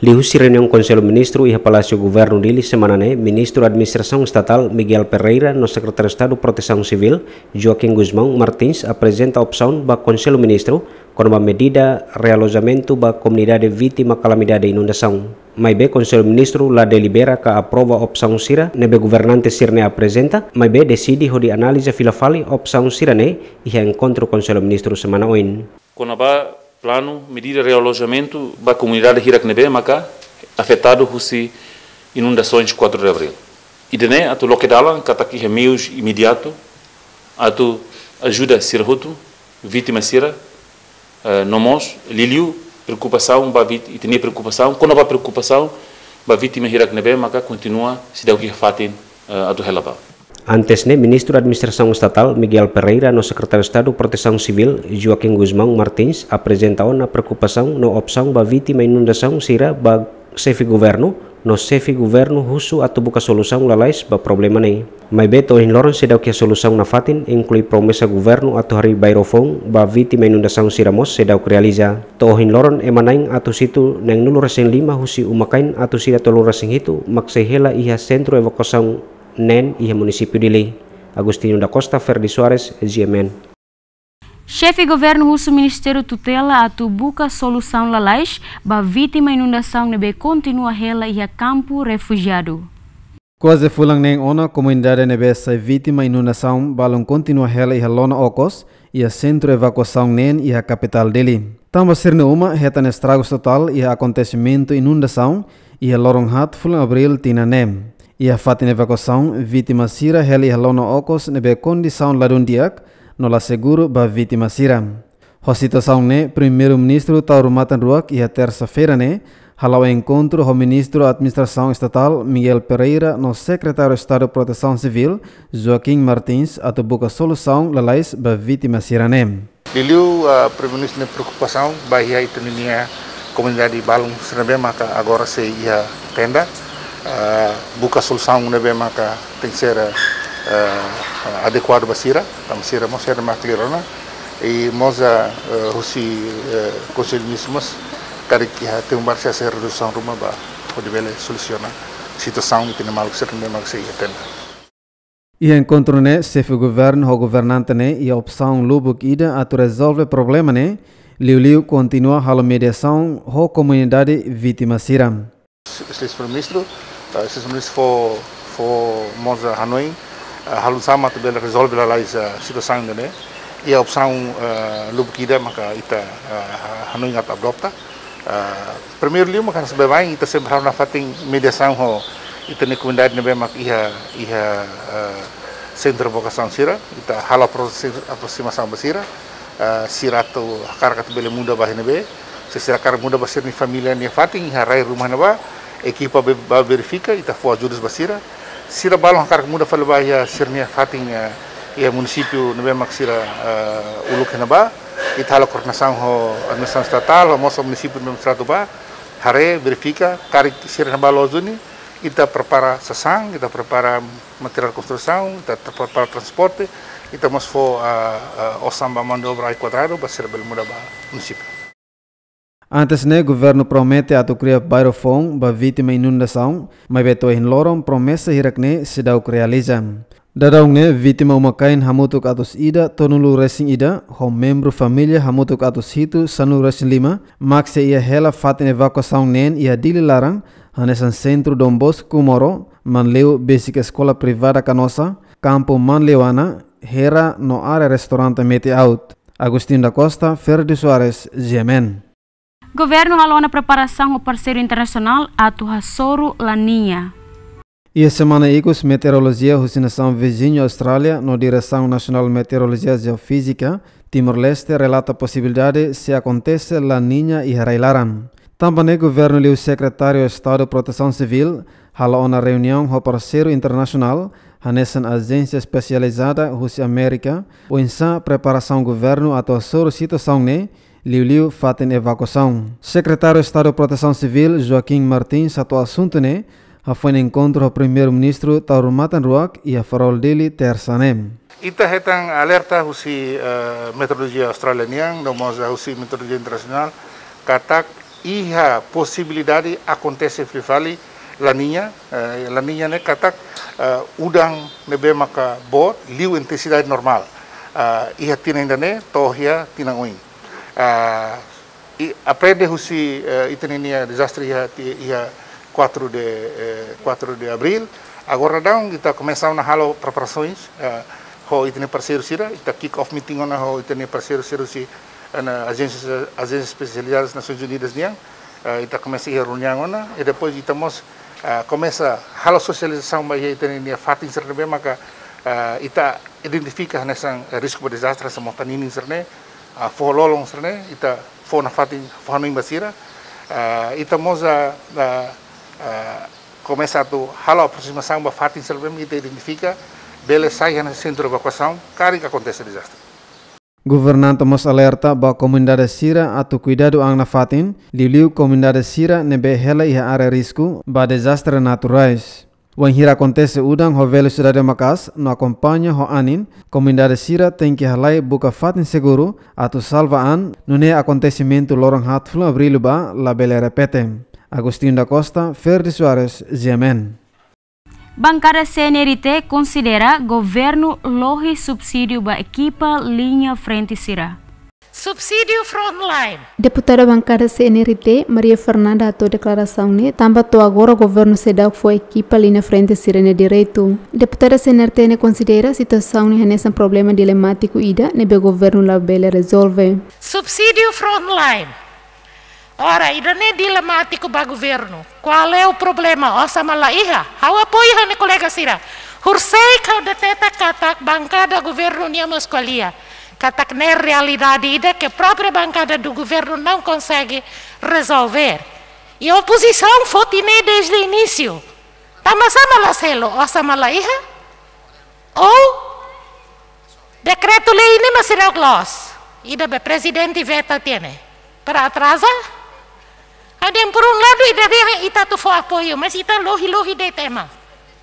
Liuhusi reuniaun Konsellu Ministru iha Palásiu Governu Dili semana ne'e, Ministru Administrasaun Estatál Miguel Pereira no Sekretáriu Estadu Protesaun Sivíl, Joaquim Gusmão Martins, aprezenta opsaun ba Konsellu Ministru kona-ba medida realojamentu ba komunidade vítima kalamidade inundasaun. Maibé Konsellu Ministru la delibera ka aprova opsaun sira ne'ebé governante sira-ne'e aprezenta, maibé deside hodi analiza fila fali opsaun sira-ne'e iha enkontru Konsellu Ministru semana oin. Kona-ba planu medida realojamentu ba komunidade hirak ne'ebé maka afetadu husi inundasoens quatro de Abril. Ida-ne'e atu loke dalan katak iha meius imediatu atu ajuda sira hotu, vítima sira, eh, no mós liuliu preokupasaun ba vít-, ita-nia preokupasaun, kona-ba preokupasaun ba vítima hirak ne'ebé maka kontinua seidauk iha fatin, eh, atu hela ba. Antes ne'e, Ministru Administrasaun Estatál Miguel Pereira no Sekretáriu Estadu Protesaun Sivíl, Joaquim Gusmão Martins, aprezenta ona preokupasaun no opsaun ba vítima inundasaun sira ba Xefe Governu, no Xefe Governu husu atu buka solusaun lalais ba problema ne'e. Maibé to'o ohin loron seidauk iha solusaun nafatin, inklui promesa Governu atu harii bairru foun ba vítima inundasaun sira mós seidauk realiza. To'o ohin loron ema na'in atus hitu neenulu resin lima husi uma-kain atus ida tolunulu resin hitu mak sei hela iha sentru evakuasaun neen iha munisípiu Dili. Agostinho da Costa, Ferdi Soares, G M N. Xefe Governu husu Ministériu Tutela atu buka solusaun lalais ba vítima inundasaun ne'ebé kontinua hela iha kampu refujiadu. Kuaze fulan neen ona komunidade ne'ebé sai vítima inundasaun balun kontinua hela iha lona okos, iha sentru evakuasaun neen iha kapitál Dili. Tanba sira-nia uma hetan estragus totál iha akontesimentu inundasaun iha loron haat fulan Abril tinan ne'e. Iha fatin evakuasaun, vítima sira hela iha lona okos ne'ebé kondisaun ladún di'ak no la seguru ba vítima sira. Ho situasaun ne'e, Primeiru-Ministru tau rumatan ruak iha tersa-feira ne'e hala'o enkontru ho Ministru Administrasaun Estatál Miguel Pereira no Sekretáriu Estadu Protesaun Sivíl, Joaquim Martins, atu buka solusaun lalais ba vítima sira-ne'e. Liuliu, ah, Primeiru-Ministru nia preokupasaun ba iha ita-nia komunidade balun sira ne'ebé maka agora sei iha tenda, ah, buka solusaun ne'ebé maka tenke ser, ah, adekuadu ba sira, tanba sira mós sira mak klirona, i mós, ah, eh, husi, eh, Konsellu Ministru mós karik iha tempu badak sei hase'e redusaun ruma ba hodi bele solusiona situasaun ita-nia maluk sira ne'ebé mak sei iha tenda. Iha enkontru ne'e, Xefe Governu ho governante ne'e iha opsaun lubuk ida atu rezolve problema ne'e, liuliu kontinua halo mediasaun ho komunidade vítima sira. Señór Primeiru-Ministru, eh, Señór Primeiru-Ministru fó, fó mós hanoin, eh, halo oinsá mak atu bele rezolve lalais, eh, situasaun ida-ne'e. Iha opsaun, eh, lubuk ida maka ita, eh, hanoin atu adota. Eh, primeiru liu maka hanesan baibain ita sempre halo nafatin mediasaun ho ita-nia komunidade ne'ebé mak iha, iha, eh, sentru evakuasaun sira, ita halo apro-, aproximasaun ba sira, eh, sira atu hakarak atu bele muda ba iha ne'ebé, se sira hakarak muda ba sira-nia família nia fatin, iha rai ruma ne'ebá, ekipa be-, bá verifika, ita fó ajuda ba sira. Sira balun hakarak muda fali ba iha sira-nia fatin, eh, iha munisípiu ne'ebé mak sira, eh, uluk iha ne'ebá, ita halo koordenasaun ho administrasaun estatál, ho mós ho munisípiu ne'ebé mak sira atu bá, haree, verifika, karik sira iha ne'ebá loos duni, ita prepara sasán, ita prepara materiál konstrusaun, ita tra-, prepara transporte, ita mós fó, ah, ah, osan ba mão de obra ai kuadradu, ba sira bele muda ba munisípiu. Antes ne'e, governu promete atu kria bairru foun ba vítima inundasaun, maibé to'o ohin loron promesa hirak ne'e seidauk realiza. Daudaun ne'e, vítima uma-kain hamutuk atus ida tolunulu resin ida, ho membru família hamutuk atus hitu sanulu resin lima, mak sei iha hela fatin evakuasaun neen iha Dili laran, hanesan Sentru Don Bosco Comoro, Manleu, besik eskola privada Canossa, kampu Manleuana, Hera no área restaurante Mete Out. Agostinho da Costa, Ferdi Soares, G M N. Governu halo ona preparasaun ho parseiru internasionál atu hasoru La Niña. Iha semana ikus, meteorolojia husi nasaun viziñu Austrália no Diresaun Nasionál Meteorolojia Jeofízika Timor-Leste relata posibilidade sei akontese La Niña iha rai-laran. Tanba ne'e, governu liu Sekretáriu Estadu Protesaun Sivíl halo ona reuniaun ho parseiru internasionál, hanesan ajénsia espesializada husi Amérika, oinsá preparasaun governu atu hasoru situasaun ne'e, liuliu fatin evakuasaun. Sekretáriu Estadu Protesaun Sivíl, Joaquim Martins, hato'o asuntu ne'e hafoin enkontru ho Primeiru-Ministru Taur Matan Ruak iha Farol, Dili, Tersa ne'e. Ita hetan alerta husi, eh, meteorolojia Austrália nian, no mós husi meteorolojia internasionál, katak iha posibilidade akontese fali La Niña, eh, La Niña ne'e katak, eh, udan ne'ebé maka boot, liu intensidade normál. Eh, iha tinan ida-ne'e to'o iha tinan oin. Eh, i aprende husi, eh, ita-nia dezastre iha ti-, iha quatro de, eh, quatro de abril. Agora daudaun ita komesa ona halo preparasaun, eh, ho ita-nia parseiru sira, ita kick off meeting ona ho ita-nia parseiru sira husi, eh, na ajénsia, ajénsia espesializada Nasoins Unidas nian, eh, ita komesa iha reuniaun ona, i depois ita mós, eh, komesa halo sosializasaun ba iha ita-nia fatin sira ne'ebé maka, eh, ita identifika hanesan, eh, risku ba dezastre, hanesan mota-ninin sira-ne'e, ah, foho lolon sira-ne'e, ita fó nafatin, fó hanoin ba sira, ah, ita mós, ah, ah, ah, komesa atu halo aproximasaun ba fatin sira ne'ebé ita identifika bele sai hanesan sentru evakuasaun, karik akontese dezastre. Governante mós alerta ba komunidade sira atu kuidadu an nafatin, liuliu komunidade sira ne'ebé hela iha área risku ba dezastre naturais. Wainhira akontese udan ho velosidade maka'as no akompaña ho anin, komunidade sira tenke halai buka fatin seguru atu salva an, nune'e akontesimentu loron haat fulan Abríl ba labele repete. Agostinho da Costa, Ferdi Soares, G M N. Bankada C N R T konsidera governu lohi subsídiu ba ekipa liña frente sira. Subsídiu frontline. Deputada bankada C N R T, Maria Fernanda, hato'o deklarasaun ne'e tanba to'o agora governu seidauk fó ekipa liña frente sira-nia direitu. Deputada C N R T ne'e konsidera situasaun ne'e hanesan problema dilemátiku ida ne'ebé governu labele rezolve. Subsídiu frontline. Ora, ida-ne'e dilemátiku ba governu. Kuál é o problema? Osan mak la iha. Ha'u apoiu ha'u-nia kolega sira. Horiseik ha'u deteta katak bankada governu nian mós ko'alia katak ne'e realidade ida que a própria bancada do governo não consegue resolver. E a oposição foti ne'e desde o início. Tanba sá mak la selu, osan mak la iha? Ou dekretu-lei ne'e mak seidauk loos, ida be prezidente veta tiha ne'e, para atraza? Ha'u dehan por um lado ida dehan ita atu fó apoiu, mas ita lohi-lohi de'it ema.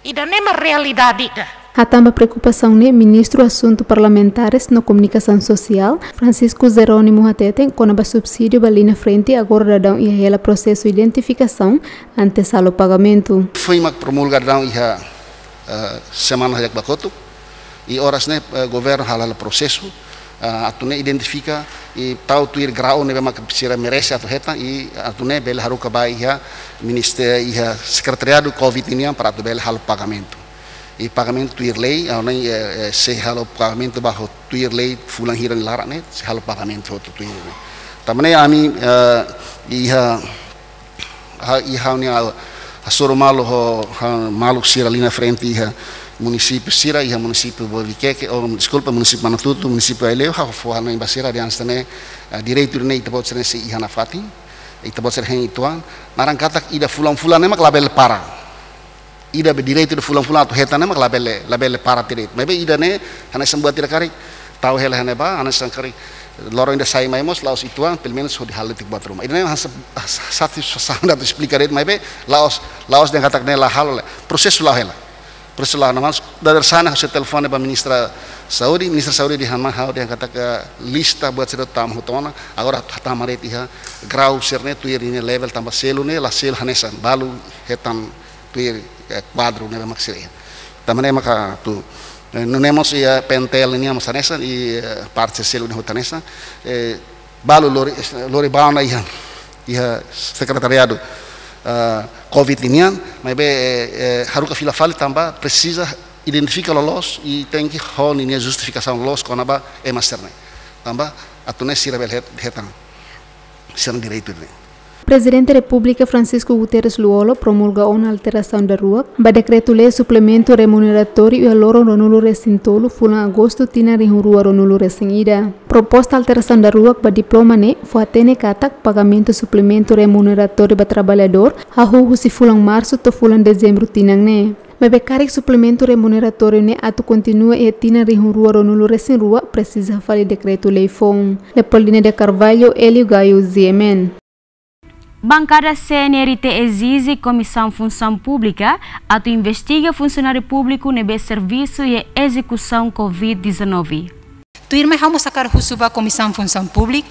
Ida-ne'e mak realidade ida. Hatán ba preokupasaun ne'e, Ministru Asuntu Parlamentares no Komunikasaun Sosiál, Francisco Jerónimo, hateten kona-ba subsídiu ba liña frente agora daudaun iha hela prosesu identifikasaun antes halo pagamentu. Foin mak promulga daudaun iha, eh, semana ida ba kotuk. I oras ne'e, eh, governu hala'o prosesu, eh, atu nune'e identifika i tau tuir grau ne'ebé mak sira merese atu hetan i atu nune'e bele haruka ba iha ministériu, iha sekretariadu covid nian para atu bele halo pagamentu. I pagamentu tuir lei, ah, ne'e, eh, eh, sei halo pagamentu ba ho tuir lei fulan hira nia laran ne'e, sei halo pagamentu ho tuir lei. Tanba ne'e ami, eh, iha ha-, i ha'u-nia hasoru malu ho, ha, maluk sira liña frente iha munisípiu sira, iha munisípiu Boviqueque, oh, deskulpa, munisípiu Manatuto, munisípiu Aileu, ha'u fó hanoin ba sira dehan hanesan ne'e, eh, direitu ne'e ita-boot sira-ne'e sei iha nafatin, ita-boot sira hein uitoan, naran katak ida fulan-fulan ne'e mak labele para. Ida be direitu ida fulan-fulan atu hetan ne'e mak labele, labele para direitu. Maibé ida-ne'e, hanesan buat ida karik, tau hela iha ne'ebá, hanesan karik loron ida sai mai mós, la'ós uitoan, pelumenus hodi halo de'it buat ruma. Ida-ne'e hanesan, hanesan satisfasaun atu esplika de'it, maibé la'ós, la'ós dehan katak ne'e la halo, la. Prosesu la'o hela. Prosesu la'o, no mas, dadeer-saan ha'u sei telefone ba Ministra Saúde, Ministra Saúde dehan mai ha'u dehan katak lista buat sira tama hotu ona, agora hatama de'it iha grau sira-ne'e tuir ninia level tanba selu ne'e, la selu hanesan, balu hetan tuir, eh, kuadru ne'ebé mak sira iha. Tanba ne'e maka atu, Eh, nune'e mós iha P N T L nian mós hanesan, i, eh, parte selu ne'e hotu hanesan, eh, balu lori, lori ba ona iha, iha sekretariadu, eh, covid nian, maibé, eh, eh, haruka fila fali tanba presiza identifika loloos i tenke ho ninia justifikasaun loloos kona-ba ema sira-ne'e. Tanba atu nune'e sira bele het-, hetan sira-nia direitu ne'e. Prezidente Repúblika Francisco Guterres Lú-Olo promulga ona alterasaun daruak ba dekretu-lei suplementu remuneratóriu iha loron ruanulu-resin-tolu fulan Agostu tinan rihun rua ruanulu-resin-ida. Proposta alterasaun daruak ba diploma ne'e fó-hatene katak pagamentu suplementu remuneratóriu ba traballadór hahú husi fulan Marsu to'o fulan Dezembru tinan ne'e. Maibé karik suplementu remuneratóriu ne'e atu kontinua iha tinan rihun rua ruanulu-resin-rua presiza fali dekretu-lei foun. Leopoldina de Carvalho, Hélio Gaio, G M N. Bankada C N R T ezije Komisaun Funsaun Públika atu investiga funsionáriu públiku ne'ebé servisu iha ezekusaun covid dezanove. Tuirmai ha'u mós hakarak husu ba Komisaun Funsaun Públika.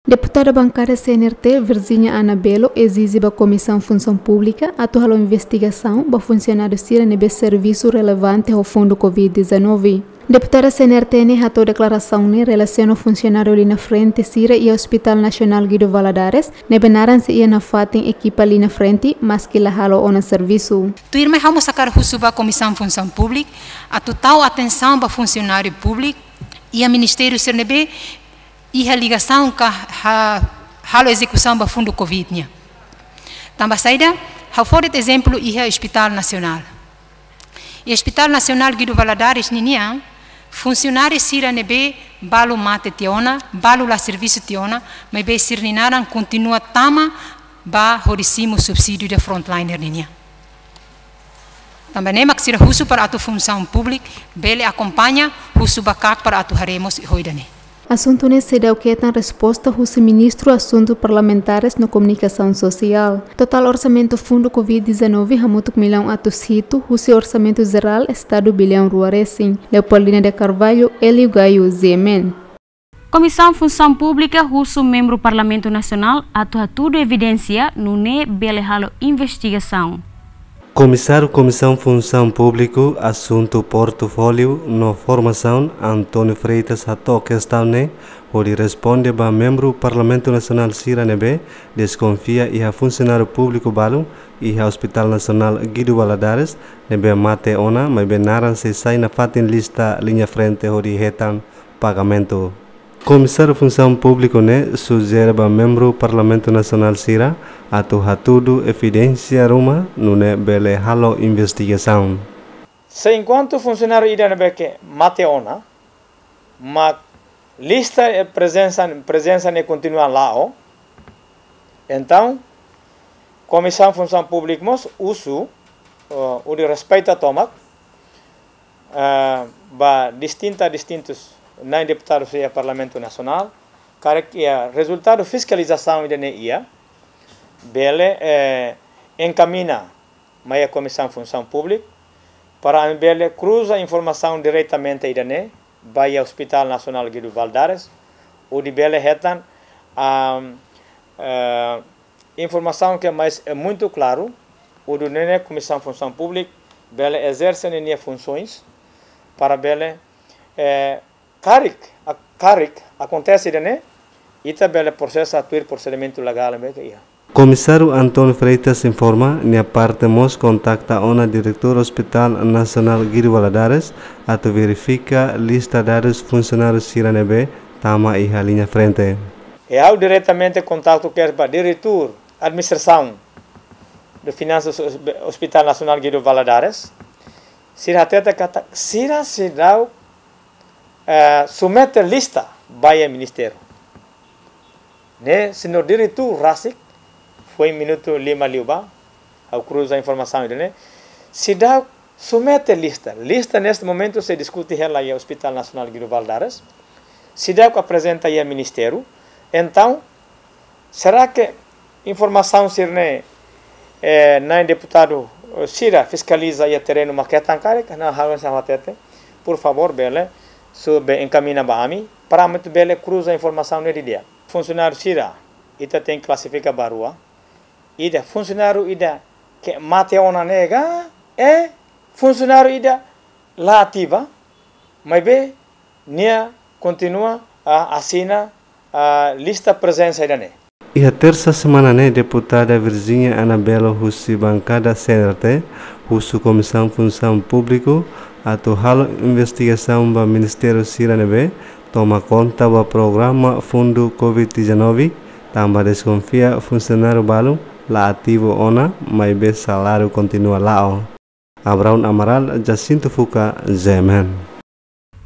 Deputada bankada C N R T, Virginia Ana Belo, ezije ba Komisaun Funsaun Públika atu halo investigasaun ba funsionáriu sira ne'ebé servisu relevante ho fundu covid dezanove. Deputada C N R T ne'e hato'o deklarasaun ne'e relasiona funsionáriu liña frente sira iha Hospital Nasionál Guido Valadares, ne'ebé naran sei iha nafatin ekipa liña frente, maski la halo ona servisu. Tuirmai ha'u mós hakarak husu ba Komisaun Funsaun Públika atu tau atensaun ba funsionáriu públiku iha ministériu sira ne'ebé iha ligasaun ka ha-, halo ezekusaun ba fundu covid nian. Tanba saida, ha'u fó de'it ezemplu iha Hospital Nasionál. Iha Hospital Nasionál Guido Valadares ninian, funsionáriu sira ne'ebé balu mate tiha ona, balu la servisu tiha ona, maibé sira-nia naran kontinua tama ba hodi simu subsídiu ida frontliner ninian. Tanba ne'e mak sira husu para atu Funsaun Públika bele akompaña, husu ba KAK para atu haree mós ho ida-ne'e. Asuntu ne'e seidauk hetan resposta husi Ministru Asuntu Parlamentares no Komunikasaun Sosiál. Totál orsamentu fundu covid dezanove hamutuk millaun atus hitu husi orsamentu jerál Estadu billaun rua resin. Leopoldina de Carvalho, Hélio Gaio, G M N. Komisaun Funsaun Públika husu membru Parlamentu Nasionál atu hatudu evidénsia nune'e bele halo investigasaun. Komisáriu Komisaun Funsaun Públika, Asuntu Portfóliu no Formasaun, António Freitas hato'o kestaun ne'e hodi responde ba membru Parlamentu Nasionál sira ne'ebé deskonfia iha funsionáriu públiku balu iha Hospital Nasionál Guido Valadares ne'ebé mate ona, maibé naran sei sai nafatin lista liña frente hodi hetan pagamentu. Komisáriu Funsaun Públika ne'e sujere ba membru Parlamentu Nasionál sira atu hatudu evidénsia ruma nune'e bele halo investigasaun. Se enkuantu funsionáriu ida ne'ebé ke mate ona, mak lista, eh, prezensa, prezensa ne'e kontinua la'o, entaun, Komisaun Funsaun Públika mós husu, eh, hodi respeita tomak, eh, ba distinta, distintus na'in deputadu sira iha Parlamentu Nasionál, karik iha rezultadu fiskalizasaun ida-ne'e iha, bele, eh, enkamiña mai iha Komisaun Funsaun Públika, para ami bele kruza informasaun diretamente ida-ne'e ba iha Hospital Nasionál Guido Valadares, hodi bele hetan, am, eh, informasaun ke mais é muito claro, hodi nune'e Komisaun Funsaun Públika bele ezerse ninia funsoens para bele, eh, karik, a-, karik akontese ida-ne'e, ita bele prosesa tuir prosedimentu legál ne'ebé ke iha. Komisáriu António Freitas informa, nia parte mós kontakta ona diretór Hospital Nasionál Guido Valadares atu verifika lista dadus funsionáriu sira ne'ebé tama iha liña frente. E ha'u diretamente kontaktu kedas ba diretór administrasaun de finansas Hos-, Hospital Nasionál Guido Valadares. Sira hatete katak sira seidauk, eh, submete lista ba iha ministériu. Ne'e, señór diretór rasik, foin minutu lima liubá, ha'u kruza informasaun ida-ne'e. Seidauk submete lista. Lista neste momentu sei diskute hela iha Hospital Nasionál Guido Valadares. Seidauk aprezenta iha ministériu. Entaun, será ke informasaun sira-ne'e, eh, na'in deputadu, eh, sira fiskaliza iha terrenu mak hetan karik? Ne'e ha'u sei hatete. Por favór, bele, sube enkamiña ba ami, para ami atu bele kruza informasaun ne'e didi'ak. Funsionáriu sira, ita tenke klasifika ba rua. Ida funsionáriu ida ke mate ona ne'e ka, eh, funsionáriu ida la ativa, Maibé nia kontinua a asina a lista prezensa ida-ne'e. Iha tersa semana ne'e, deputada Virginia Anabelo husi bankada C N R T husu Komisaun Funsaun Públika atu halo investigasaun ba ministériu sira ne'ebé toma konta ba programa fundu covid dezanove, tanba deskonfia funsionáriu balun la ativu ona, maibé saláriu kontinua la'o. Abraão Amaral, Jacinto Fuca, G M N.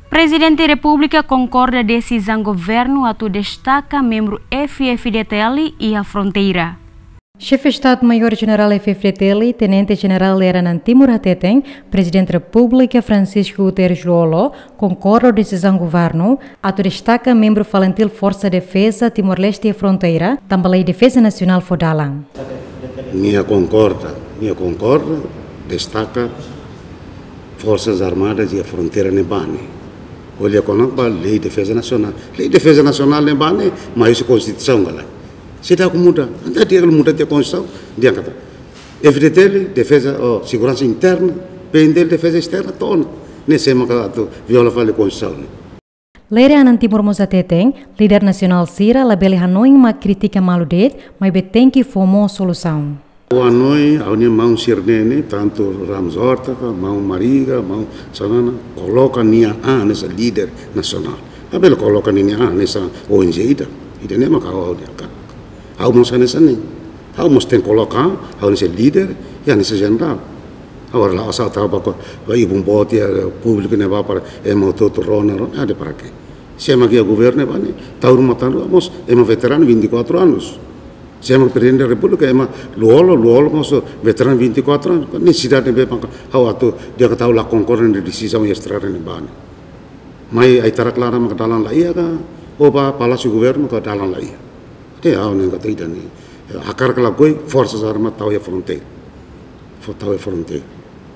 Prezidente Repúblika konkorda desizaun governu atu destaka membru F-FDTL iha fronteira. Xefe Estadu-Maiór Jenerál F-FDTL, Tenente Jenerál Lere Anan Timur hateten, Prezidente Repúblika Francisco Guterres Lú-Olo konkorda ho desizaun governu atu destaka membru FALINTIL Forsa Defeza Timor-Leste iha fronteira, tanba Lei Defeza Nasionál fó dalan. Nia konkorda, nia konkorda destaka Forsas Armadas iha fronteira ne'e ba ne'e. Ko'alia kona-ba Lei Defeza Nasionál. Lei Defeza Nasionál ne'e ba ne'e, mai husi Konstituisaun ka lae. Seidauk muda, entaun di'ak muda tiha Konstituisaun, di'ak katak F-FDTL, defeza, ou seguransa interna, P-FDTL, defeza esterna, to'o ona. Ne'e sé mak atu viola fali Konstituisaun ne'e. Lere Anan Timur mós hateten, líder nasionál sira labele hanoin mak kritika malu de'it, maibé tenke fó mós solusaun. Ha'u hanoin, ha'u-nia maun sira-ne'e, tantu Ramos Horta ka, maun Mariga, maun Xanana, koloka nia an hanesan líder nasionál. Labele koloka nia an hanesan O N G ida. Ida-ne'e mak ha'u, ha'u dehan ka. Ha'u mós hanesan ne'e. Ha'u mós tenke koloka, ha'u hanesan líder, i hanesan jenerál. Agora la'ós atu ba ko, ba ibun boot iha públiku ne'ebá para ema hotu-hotu rona, rona, ade para quê? Sé mak iha governu ne'ebá ne'e, tau ruma tau rua, mós ema veteranu vinte e quatro anos. Sé mak Prezidente da Repúblika, ema Lú-Olo, Lú-Olo mós veteranu vinte e quatro anos. Nesesidade ne'ebé mak ha'u atu, di'ak katak ha'u la konkorda ho desizaun iha estrada ne'ebá ne'e. Mai ai-tarak laran mak dalan la iha ka, ou ba Palásiu Governu ka dalan la iha. Te ha'u hanoin katak ida-ne'e. Hakarak ka lakohi, Forsas Armadas tau iha fronteira. Fó tau iha fronteira.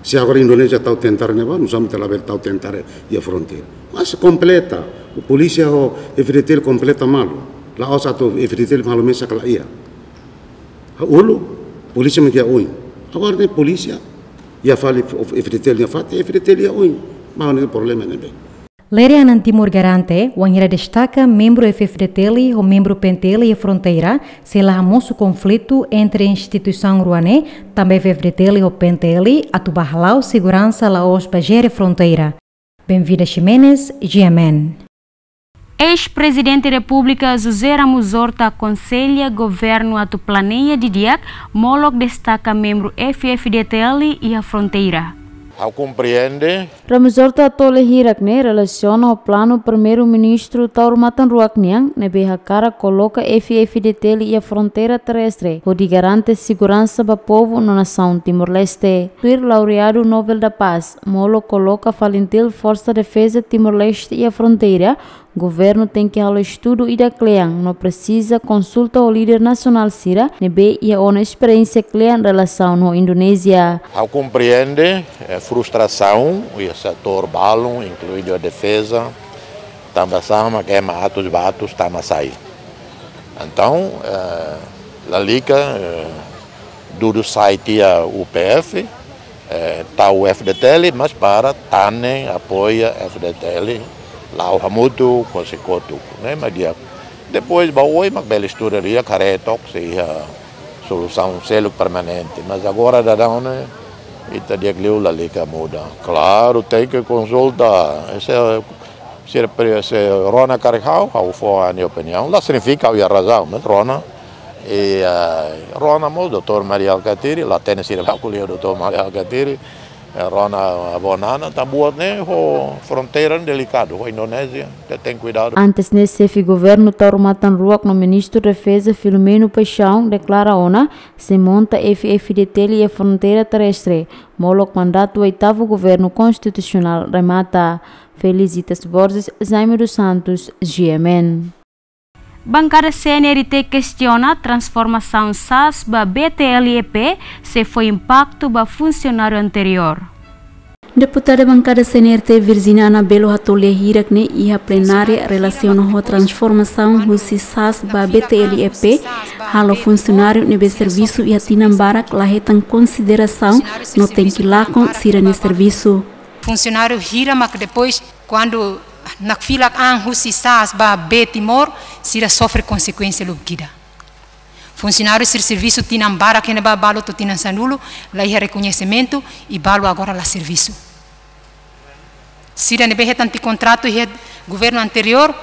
Se agora Indonézia tau tentara ne'ebá, nusá mak ita labele tau tentara iha fronteira. Mas kompleta, polísia ho F-FDTL kompleta malu. La'ós atu F-FDTL halo mesak ka la iha. Uluk, polísia mak iha oin. Agora ne'e polísia iha fali F-FDTL iha fatin, F-FDTL iha oin. Ba ne'e problema ne'ebé. Lere Anan Timur garante, wainhira destaka membru F-FDTL ho membru P-FDTL iha fronteira, sei la hamosu konflitu entre instituisaun rua ne'e, tanba F-FDTL ho P-FDTL atu ba hala'o seguransa la'ós ba jere fronteira. Benvida Ximenes, G M N. Eis-Prezidente Repúblika José Ramos Horta akonsella governu atu planeia didi'ak molok destaka membru F-FDTL iha fronteira. Ha'u komprende. Ramos Horta hato'o lia hirak-ne'e relasiona ho planu Primeiru-Ministru taur matan-ruak nian, ne'ebé hakarak koloka F-FDTL iha fronteira terrestre, hodi garante seguransa ba povu no nasaun Timor-Leste. Tuir laureadu Nobel da Paz, molok koloka FALINTIL Forsa Defeza Timor-Leste iha fronteira, governu tenke halo estudu ida kle'an no presiza konsulta ho líder nasionál sira ne'ebé iha ona esperiénsia kle'an relasaun ho Indonézia. Ha'u komprende, eh, frustrasaun iha setór balun, inkluidu defeza, tanba sá mak ema atus ba atus tama sai. Entaun, eh, lalika, eh, dudu sai tiha U P F, eh, tau F-FDTL, mas para tanen apoia F-FDTL, la'o hamutuk, kose kotuk, ne'e mak di'ak. Depois, ba oin mak bele estuda di'ak, haree took se iha solusaun seluk permanente. Mas agora daudaun ne'e, ita di'ak liu lalika muda. Klaru, tenke konsulta. Ese, se, se rona karik ha'u, ha'u fó ha'u-nia opiniaun. La signifika ha'u iha razaun, mas rona. I, eh, rona mós doutór Mari Alkatiri, la hatene sira ba ko'alia ho doutór Mari Alkatiri. Eh, rona Bonana, tanba buat ne'e ho fronteira delikadu, ho Indonézia, ita tenke kuidadu. Antes ne'e, xefe governu taur matan-ruak no Ministru Defeza Filomeno Paixão deklara ona, sei monta F-FDTL iha fronteira terrestre, molok mandatu oitavu governu konstitusionál remata. Felicitas Borges, Jaime dos Santos, G M N. Bankada C N R T kestiona transformasaun SAS ba B T L E P sei fó impaktu ba funsionáriu anteriór. Deputada bankada C N R T Virginia Anabelo hato'o lia hirak-ne'e iha plenária relasiona ho transformasaun husi SAS ba B T L E P, halo funsionáriu ne'ebé servisu iha tinan barak la hetan konsiderasaun no tenke lakon sira-nia servisu. Funsionáriu hira mak depois Kuandu nakfilak an husi SAAS ba Bee Timor, sira sofre konsekuénsia lubuk ida. Funsionáriu sira servisu tinan barak iha ne'ebá, balu to'o tinan sanulu, la iha rekoñesimentu, i balu agora la servisu. Sira ne'ebé hetan tiha kontratu iha governu anteriór,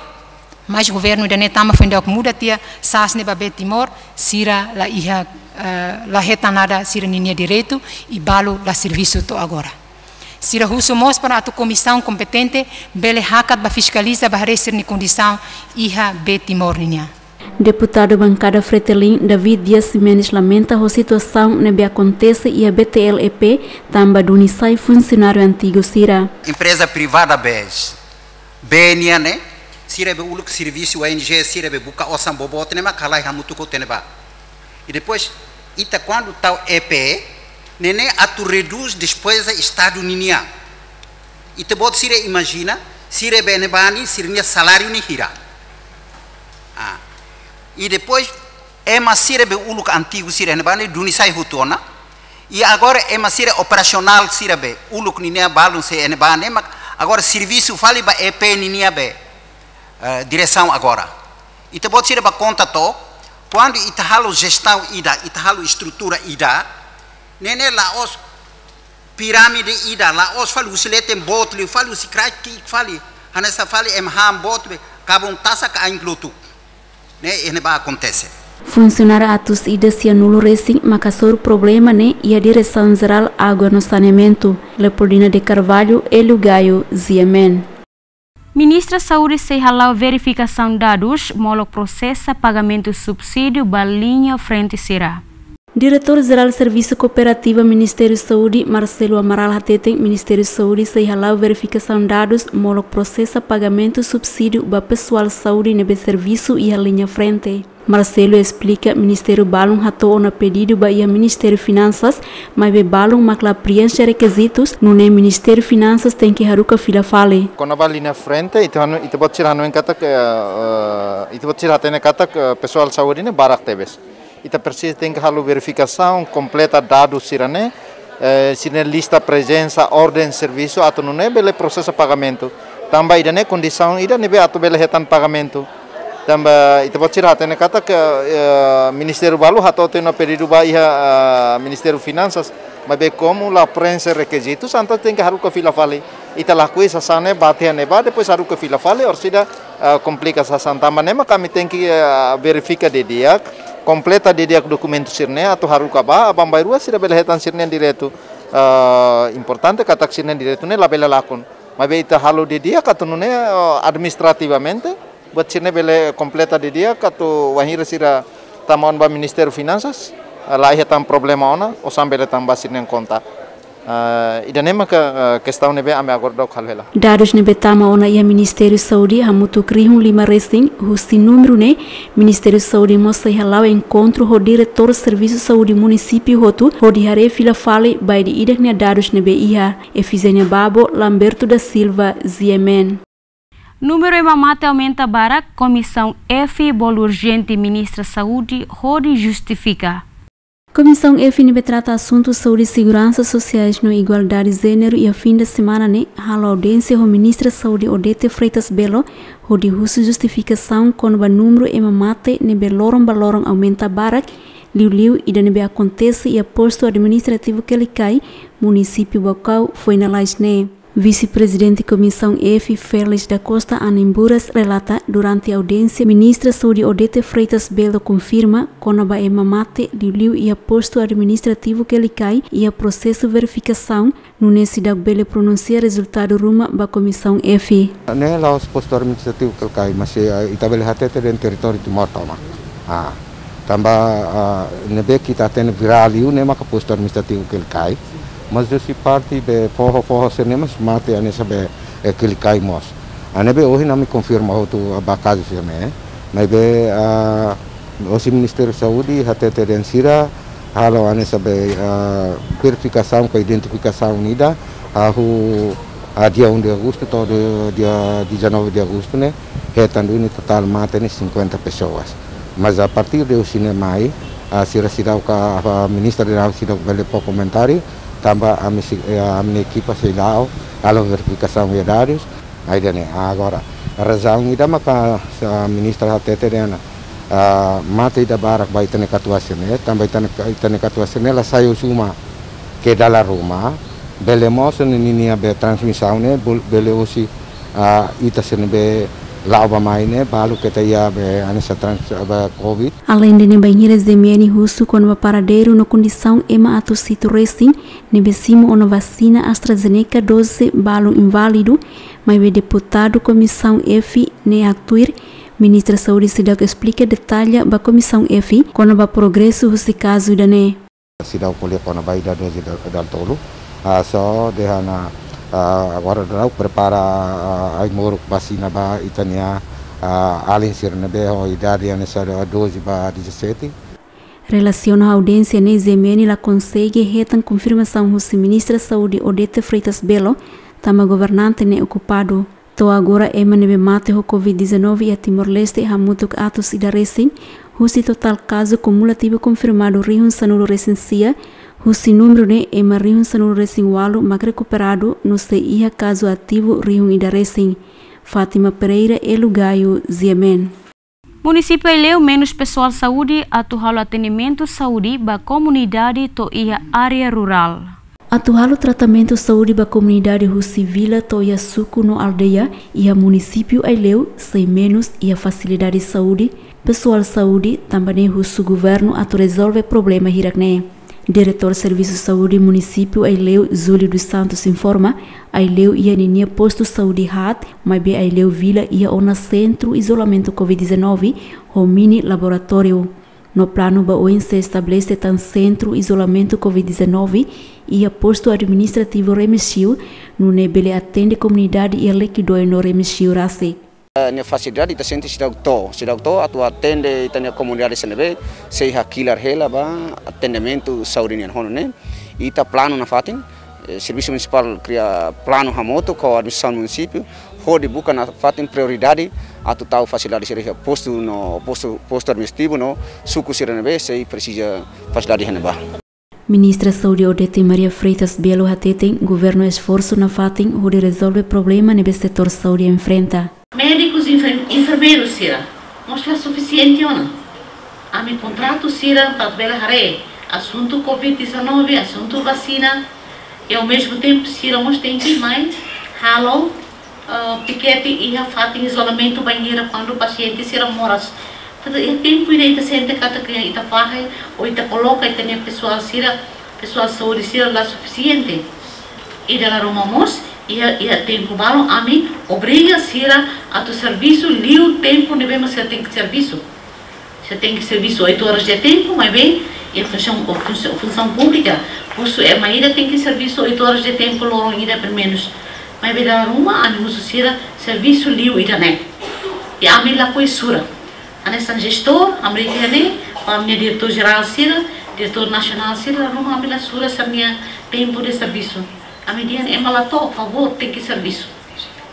mas governu ida-ne'e tama foin daudauk muda tiha SAAS ne'e ba Bee Timor, sira la iha, eh, la hetan nada sira-ninia direitu, i balu la servisu to'o agora. Sira husu mós para atu komisaun kompetente bele hakat ba fiskaliza ba haree sira-nia kondisaun iha Bee Timor ninian. Deputadu bankada Fretilin, David Dias Ximenes, lamenta ho situasaun ne'ebé akontese iha B T L E P, tanba duni sai funsionáriu antigu sira. Empreza privada bee, bee nian ne'e, sira be uluk servisu, O N G sira be buka osan boboot ne'e mak halai hamutuk ho ita-nia bee. I depois, ita kuandu tau E P, ne'e ne'e atu redús despeza Estadu ninian. Ita-boot sira imajina, sira be iha ne'ebá ne'e, sira-nia saláriu ne'e hira. Ah. I depois, ema sira be uluk antigu sira iha ne'ebá ne'e, duni sai hotu ona. I agora ema sira operasionál sira be uluk ninia balun sei iha ne'ebá ne'e, mak agora servisu fali ba E P ninia be, eh, diresaun agora. Ita-boot sira bá konta took, kuandu ita halo jestaun ida, ita halo estrutura ida, ne'e ne'e la'ós pirámide ida, la'ós fali husi leten boot liu, fali husi kraik ki'ik fali, hanesan fali ema han boot be, kabun tasak ain lotu. Ne'e, ne'e bá akontese. Funsionáriu atus ida sianulu resin mak hasoru problema ne'e iha Diresaun Jerál Água no Saneamentu. Leopoldina de Carvalho, Hélio Gaio, G M N. Ministra Saúde sei hala'o verifikasaun dadus, molok prosesa pagamentu subsídiu ba liña frente sira. Diretór Jerál Servisu Kooperativa Ministériu Saúde, Marcelo Amaral, hateten Ministériu Saúde sei hala'o verifikasaun dadus, molok prosesa pagamentu subsídiu ba pesoál saúde ne'ebé servisu iha liña frente. Marcelo esplika, ministériu balun hato'o ona pedidu ba iha Ministériu Finansas, maibé balun mak la prienxe rekizitus, nune'e Ministériu Finansas tenke haruka fila fali. Kona-ba liña frente, ita hanu-, ita-boot sira hanoin katak, eh, ita-boot sira hatene katak, eh, pesoál saúde ne'e barak tebes. Ita presiza tenke halo verifikasaun, kompleta dadus sira-ne'e, eh, sira-nia lista prezensa, orden servisu, atu nune'e bele prosesa pagamentu. Tanba ida-ne'e kondisaun ida ne'ebé atu bele hetan pagamentu. Tanba ita-boot sira hatene katak, eh, ministériu balu hato'o tiha ona pedidu ba iha, eh, Ministériu Finansas, maibé komu la prienxe rekizitus, entaun tenke haruka fila fali. Ita lakohi sasán ne'e bá tiha ne'ebá, depois haruka fila fali, orsida, eh, komplika sasán. Tanba ne'e mak ami tenke, eh, verifika didi'ak, kompleta didi'ak dokumentu sira-ne'e, atu haruka bá, aban-bainrua sira bele hetan sira-nia direitu. Eh, importante katak sira-nia direitu ne'e labele lakon. Maibé ita halo didi'ak atu nune'e, eh, administrativamente, buat sira-ne'e bele kompleta didi'ak atu wainhira sira tama ona ba Ministériu Finansas, eh, la iha tan problema ona, osan bele tama ba sira-nia konta. Eh, ida-ne'e maka, eh, kestaun ne'ebé ami agora daudauk halo hela. Dadus ne'ebé tama ona iha Ministériu Saúde hamutuk rihun lima resin, husi númeru ne'e, Ministériu Saúde mós sei hala'o enkontru ho diretór servisu saúde munisípiu hotu, hodi haree fila fali ba ida-idak nia dadus ne'ebé iha. Efigénia Babo, Lamberto da Silva, G M N. Númeru ema mate aumenta barak, Komisaun F bolu urjente Ministra Saúde hodi justifika. Komisaun F ne'ebé trata asuntu saúde, seguransa sosiais no igualdade jéneru iha fin de semana ne'e halo audiénsia ho Ministra Saúde Odete Freitas Belo, hodi husu justifikasaun kona-ba númeru ema mate ne'ebé loron ba loron aumenta barak, liuliu ida ne'ebé akontese iha postu administrativu Kelikai, munisípiu Baucau, foin lalais ne'e. Vise-Prezidente Komisaun F, Félix da Costa Anembura, relata, durante audiénsia, Ministra Saúde Odete Freitas Belo konfirma kona-ba ema mate liuliu iha postu administrativu Kelikai iha prosesu verifikasaun, nune'e seidauk bele pronunsia rezultadu ruma ba Komisaun F. Ne'e la'ós postu administrativu Kelikai, mas, eh, ita bele hatete de'it territóriu Timor tomak. Ah, tanba, ah, ne'ebé ita hatene virál liu ne'e maka postu administrativu Kelikai. Mas husi parte be foho-foho sira-ne'e mós mate hanesan be, eh, Kelikai mós. Ah, ne'ebé ohin ami konfirma hotu ba kazu sira-ne'e. Maibé, ah, hosi Ministériu Saúde hatete de'it sira halo hanesan be, ah, verifikasaun ka identifikasaun ida, ah, hu, ah, dia um de agosto to'o dia, dia dezanove de agosto ne'e, hetan duni totál mate ne'e cinquenta pessoas. Mas a partir de hoje ne'e mai, ah, sira seidauk, ah, Ministra de Saúde seidauk bele fó komentáriu, tanba ami sei, eh, ami-nia ekipa sei la'o, halo verifikasaun iha dadus, Ai dane agora, razaun ida maka, ah, ministra hatete dehan, ah, mate ida barak ba ita-nia katuas sira-ne'e, tanba ita-nia, ita-nia katuas sira-ne'e la sai husi uma ke dala ruma, bele mós ninia be transmisaun ne'e, bul-, bele husi, ah, ita sira-ne'ebé la'o bá mai ne'e, balu keta iha be hanesan trans-, be covid. Aleinde ne'e, bainhira Zé M N husu kona-ba paradeiru no kondisaun ema atus hitu resin ne'ebé simu ona vasina AstraZeneca doze balu inválidu, maibé deputadu Komisaun F ne'e haktuir, Ministra Saúde seidauk esplika detalla ba Komisaun F kona-ba progresu husi kazu ida-ne'e. Seidauk ko'alia kona-ba ida doze da-, dala tolu. Ah, só dehan, ah, agora daudaun prepara, ah, ai-moruk vasina ba ita-nia, ah, alin sira ne'ebé ho idade hanesan doze ba dezassete. Relasiona ho audiénsia ne'e, Zé M N la konsege hetan konfirmasaun husi Ministra Saúde Odete Freitas Belo, tanba governante ne'e okupadu. To'o agora ema ne'ebé mate ho covid dezanove iha Timor-Leste hamutuk atus ida resin, husi totál kazu kumulativu konfirmadu rihun sanulu resin sia, husi númeru ne'e ema rihun sanulu resin ualu mak rekuperadu, no sei iha kazu ativu rihun ida resin. Fátima Pereira, Elu Gayo, G M N. Munisípiu Aileu menus pesoál saúde atu halo atendimentu saúde ba komunidade to'o iha área rurál. Atu halo tratamentu saúde ba komunidade husi vila to'o iha suku no aldeia iha munisípiu Aileu, sei menus iha fasilidade saúde, pesoál saúde, tanba ne'e husu governu atu rezolve problema hirak-ne'e. Diretór Servisu Saúde Munisípiu Aileu, Júlio dos Santos, informa, Aileu iha ninia postu saúde haat, maibé Aileu vila iha ona sentru izolamentu covid dezanove ho mini laboratóriu. No planu ba oin sei estabelese tan sentru izolamentu covid dezanove iha postu administrativu Remexio, nune'e bele atende komunidade iha Lequidoe no Remexio rasik. Eh, nia fasilidade ita sente seidauk to'o, seidauk to'o atu atende ita-nia komunidade sira ne'ebé sei hakilar hela ba atendimentu saúde nian. Ho ne'e, ita planu nafatin, eh, Servisu Munisipál kria planu hamutuk ho administrasaun munisípiu, hodi buka nafatin prioridade atu tau fasilidade sira iha postu no postu, postu administrativu no suku sira ne'ebé sei presiza fasilidade iha ne'ebá. Ministra Saúde Odete Maria Freitas Belo hateten, governu esforsu nafatin hodi rezolve problema ne'ebé setór saúde enfrenta. Médikus, enfer-, enfermeiru sira mós la sufisiente ona. Ami kontratu sira para bele haree asuntu covid dezanove, asuntu vasina, i ao mesmo tempo sira mós tenke mai halo, ah, pikete iha fatin izolamentu bainhira kuandu pasiente sira moras. Tantu iha tempu ida ita sente katak ita fahe ou ita koloka ita-nia pesoál sira, pesoál saúde sira la sufisiente. I dala ruma mós, iha, iha tempu balun ami obriga sira atu servisu liu tempu ne'ebé mak sira tenke servisu. Sira tenke servisu oito horas de tempo, maibé iha funsaun, funsaun, funsaun públika, husu ema ida tenke servisu oito horas de tempo loron ida pelumenus. Maibé dala ruma ami husu sira servisu liu ida-ne'e. I ami lakohi sura. Hanesan jestór, ami dehan ne'e ba ami-nia diretór jerál sira, diretór nasionál sira, dala ruma ami la sura sira-nia tempu de servisu. Ami dehan ema la to'o, favór, tenke servisu.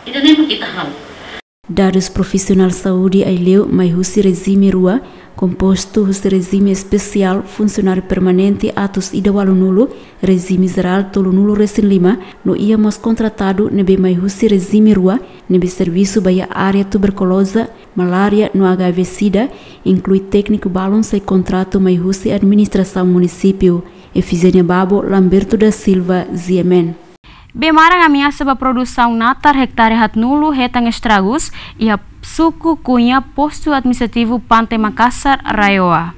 Ida-ne'e mak ita halo. Dadus profisionál saúde Aileu mai husi rejime rua, kompostu husi rejime espesiál funsionáriu permanente atus ida ualunulu, rejime jerál tolunulu resin lima, no iha mós kontratadu ne'ebé mai husi rejime rua, ne'ebé servisu ba iha área tuberkuloza, malária no H I V sida, inklui tékniku balun sei kontratu mai husi administrasaun munisípiu. Efigénia Babo, Lamberto da Silva, G M N. Bee maran ameasa ba produsaun natar hektare haatnulu hetan estragus iha suku Cunha, postu administrativu Pante Makassar, RAEOA.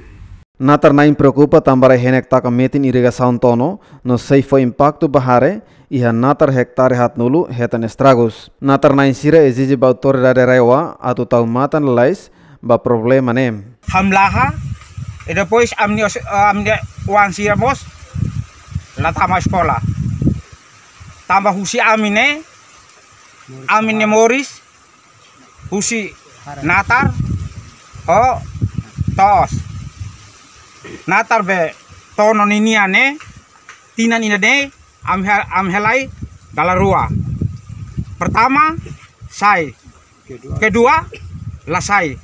Natar-na'in preokupa tanba rai-henek taka metin irrigasaun Tono, no sei fó impaktu ba hare, iha natar hektare haatnulu hetan estragus. Natar-na'in sira ezije ba autoridade RAEOA atu tau matan lalais ba problema ne'e. Hamlaha, e depois ami-nia os-, ami-nia oan sira mós la tama eskola. Tanba husi ami ne'e, ami-nia moris husi natar ho to'os. Natar be Tono ninian ne'e, tinan ida-ne'e, ami ha-, ami halai dala rua. Pertama, sai. Kedua, la sai.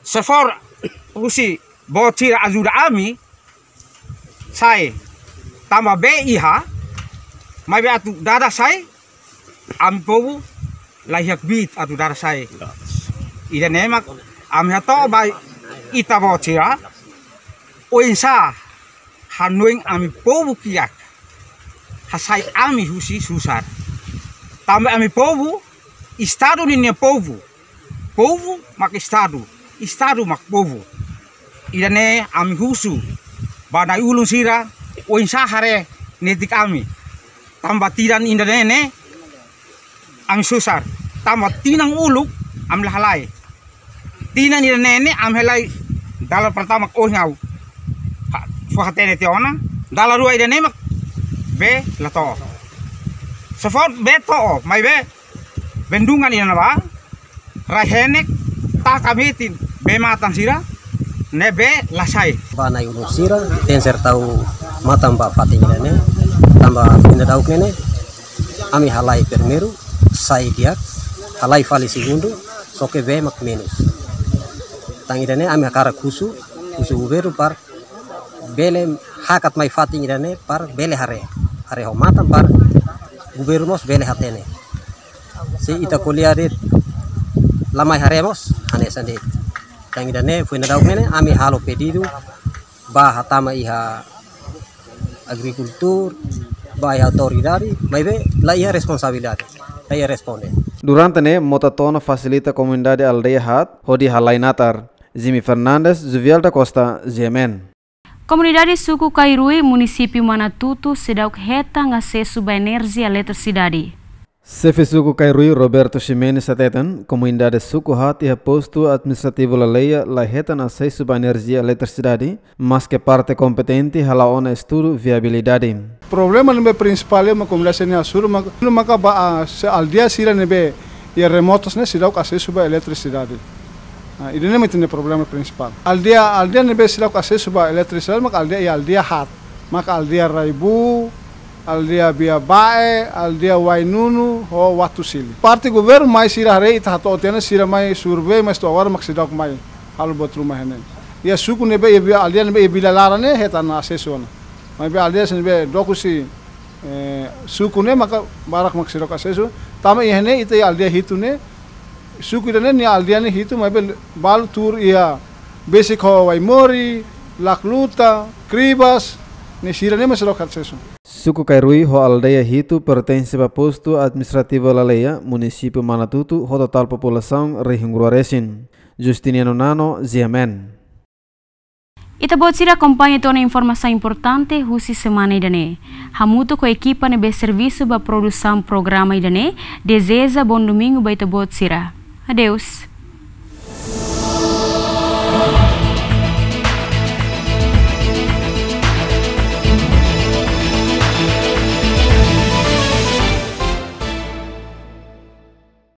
Se for husi boot sira ajuda ami, sai. Tanba bee iha, maibé atu dada sai, ami povu Laiha kbiit atu dada sai. Ida-ne'e mak ami hato'o ba ita-boot sira. Oinsá hanoin ami povu kiak hasai ami husi susar. Tanba ami povu, Estadu ninia povu. Povu mak Estadu, Estadu mak povu. Ida-ne'e ami husu ba na'i-ulun sira, oinsá haree netik ami. Tanba tinan ida-ne'e ne'e ami susar. Tanba tinan uluk ami la halai. Tinan ida-ne'e ne'e ami halai dala pertama ohin ha'u fó hatene tiha ona, dala rua ida-ne'e mak bee la to'o. Se fó bee to'o, maibé bendungan ida-ne'ebá rai henek, taka metin bee-matan sira, ne'ebé la sai. Ba na'i-ulun sira, tenser tau matan ba fatin ida-ne'e, tanba fina dauk ne'e ne'e, ami halai primeiru, sai di'ak, halai fali segundu, só ke bee mak menus. Tan ida-ne'e ami hakarak husu, husu governu para bele hakat mai fatin ida-ne'e para bele haree. Haree ho matan para governu mós bele hatene. Se ita ko'alia de'it la mai haree mós, hanesan de'it. Tan ida-ne'e fina dauk ne'e ne'e, ami halo pedidu ba hatama iha agrikultór, ba iha autoridade, maibé la iha responsabilidade, la iha responde. Durante ne'e, mota to'o ona fasilita komunidade aldeia haat hodi halai natar. Jimmy Fernandes, Juvial da Costa, G M N. Komunidade Suku Kairui, Munisípiu Manatuto, seidauk hetan asesu ba enerjia eletrisidade. Xefe Suku Kairui, Roberto Ximenes, hateten, komunidade suku haat iha postu administrativu Laleia la hetan asesu ba enerjia eletrisidade, maske parte kompetente hala'o ona estudu viabilidade. Problema ne'ebé prinsipál mak komunidade sira-ne'e hasoru mak, maka ba, ah, se aldeia sira ne'ebé iha remotas ne'e seidauk asesu ba eletrisidade. Ah, ida-ne'e mak ita-nia problema prinsipál. Aldeia, aldeia ne'ebé seidauk asesu ba eletrisidade maka aldeia iha aldeia haat. Maka aldeia Raibu, aldeia Biaba'e, aldeia Wainunu, ho Watusili. Parte governu mai sira haree ita hato'o tiha ona sira mai survei, mas to'o agora mak seidauk mai halo buat ruma iha ne'e. Iha suku ne'ebé iha vila, aldeia ne'ebé iha vila laran ne'e hetan asesu ona. Maibé aldeia sira ne'ebé dook husi, eh, suku ne'e maka barak mak seidauk asesu. Tanba iha ne'e ita iha aldeia hitu ne'e, suku ida-ne'e nia aldeia ne'e hitu, maibé balu tuur iha besik ho Waimori, Lakluta, Kribas, ne'e sira-ne'e mak seidauk asesu. Suku Kairui ho aldeia hitu pertense ba postu administrativu Laleia, Munisípiu Manatuto, ho totál populasaun rihun rua resin. Justiniano Nano, G M N. Ita-boot sira akompaña tiha ona informasaun importante husi semana ida-ne'e. Hamutuk ho ekipa ne'ebé servisu ba produsaun programa ida-ne'e, dezeja bom domingu ba ita-boot sira. Adeus.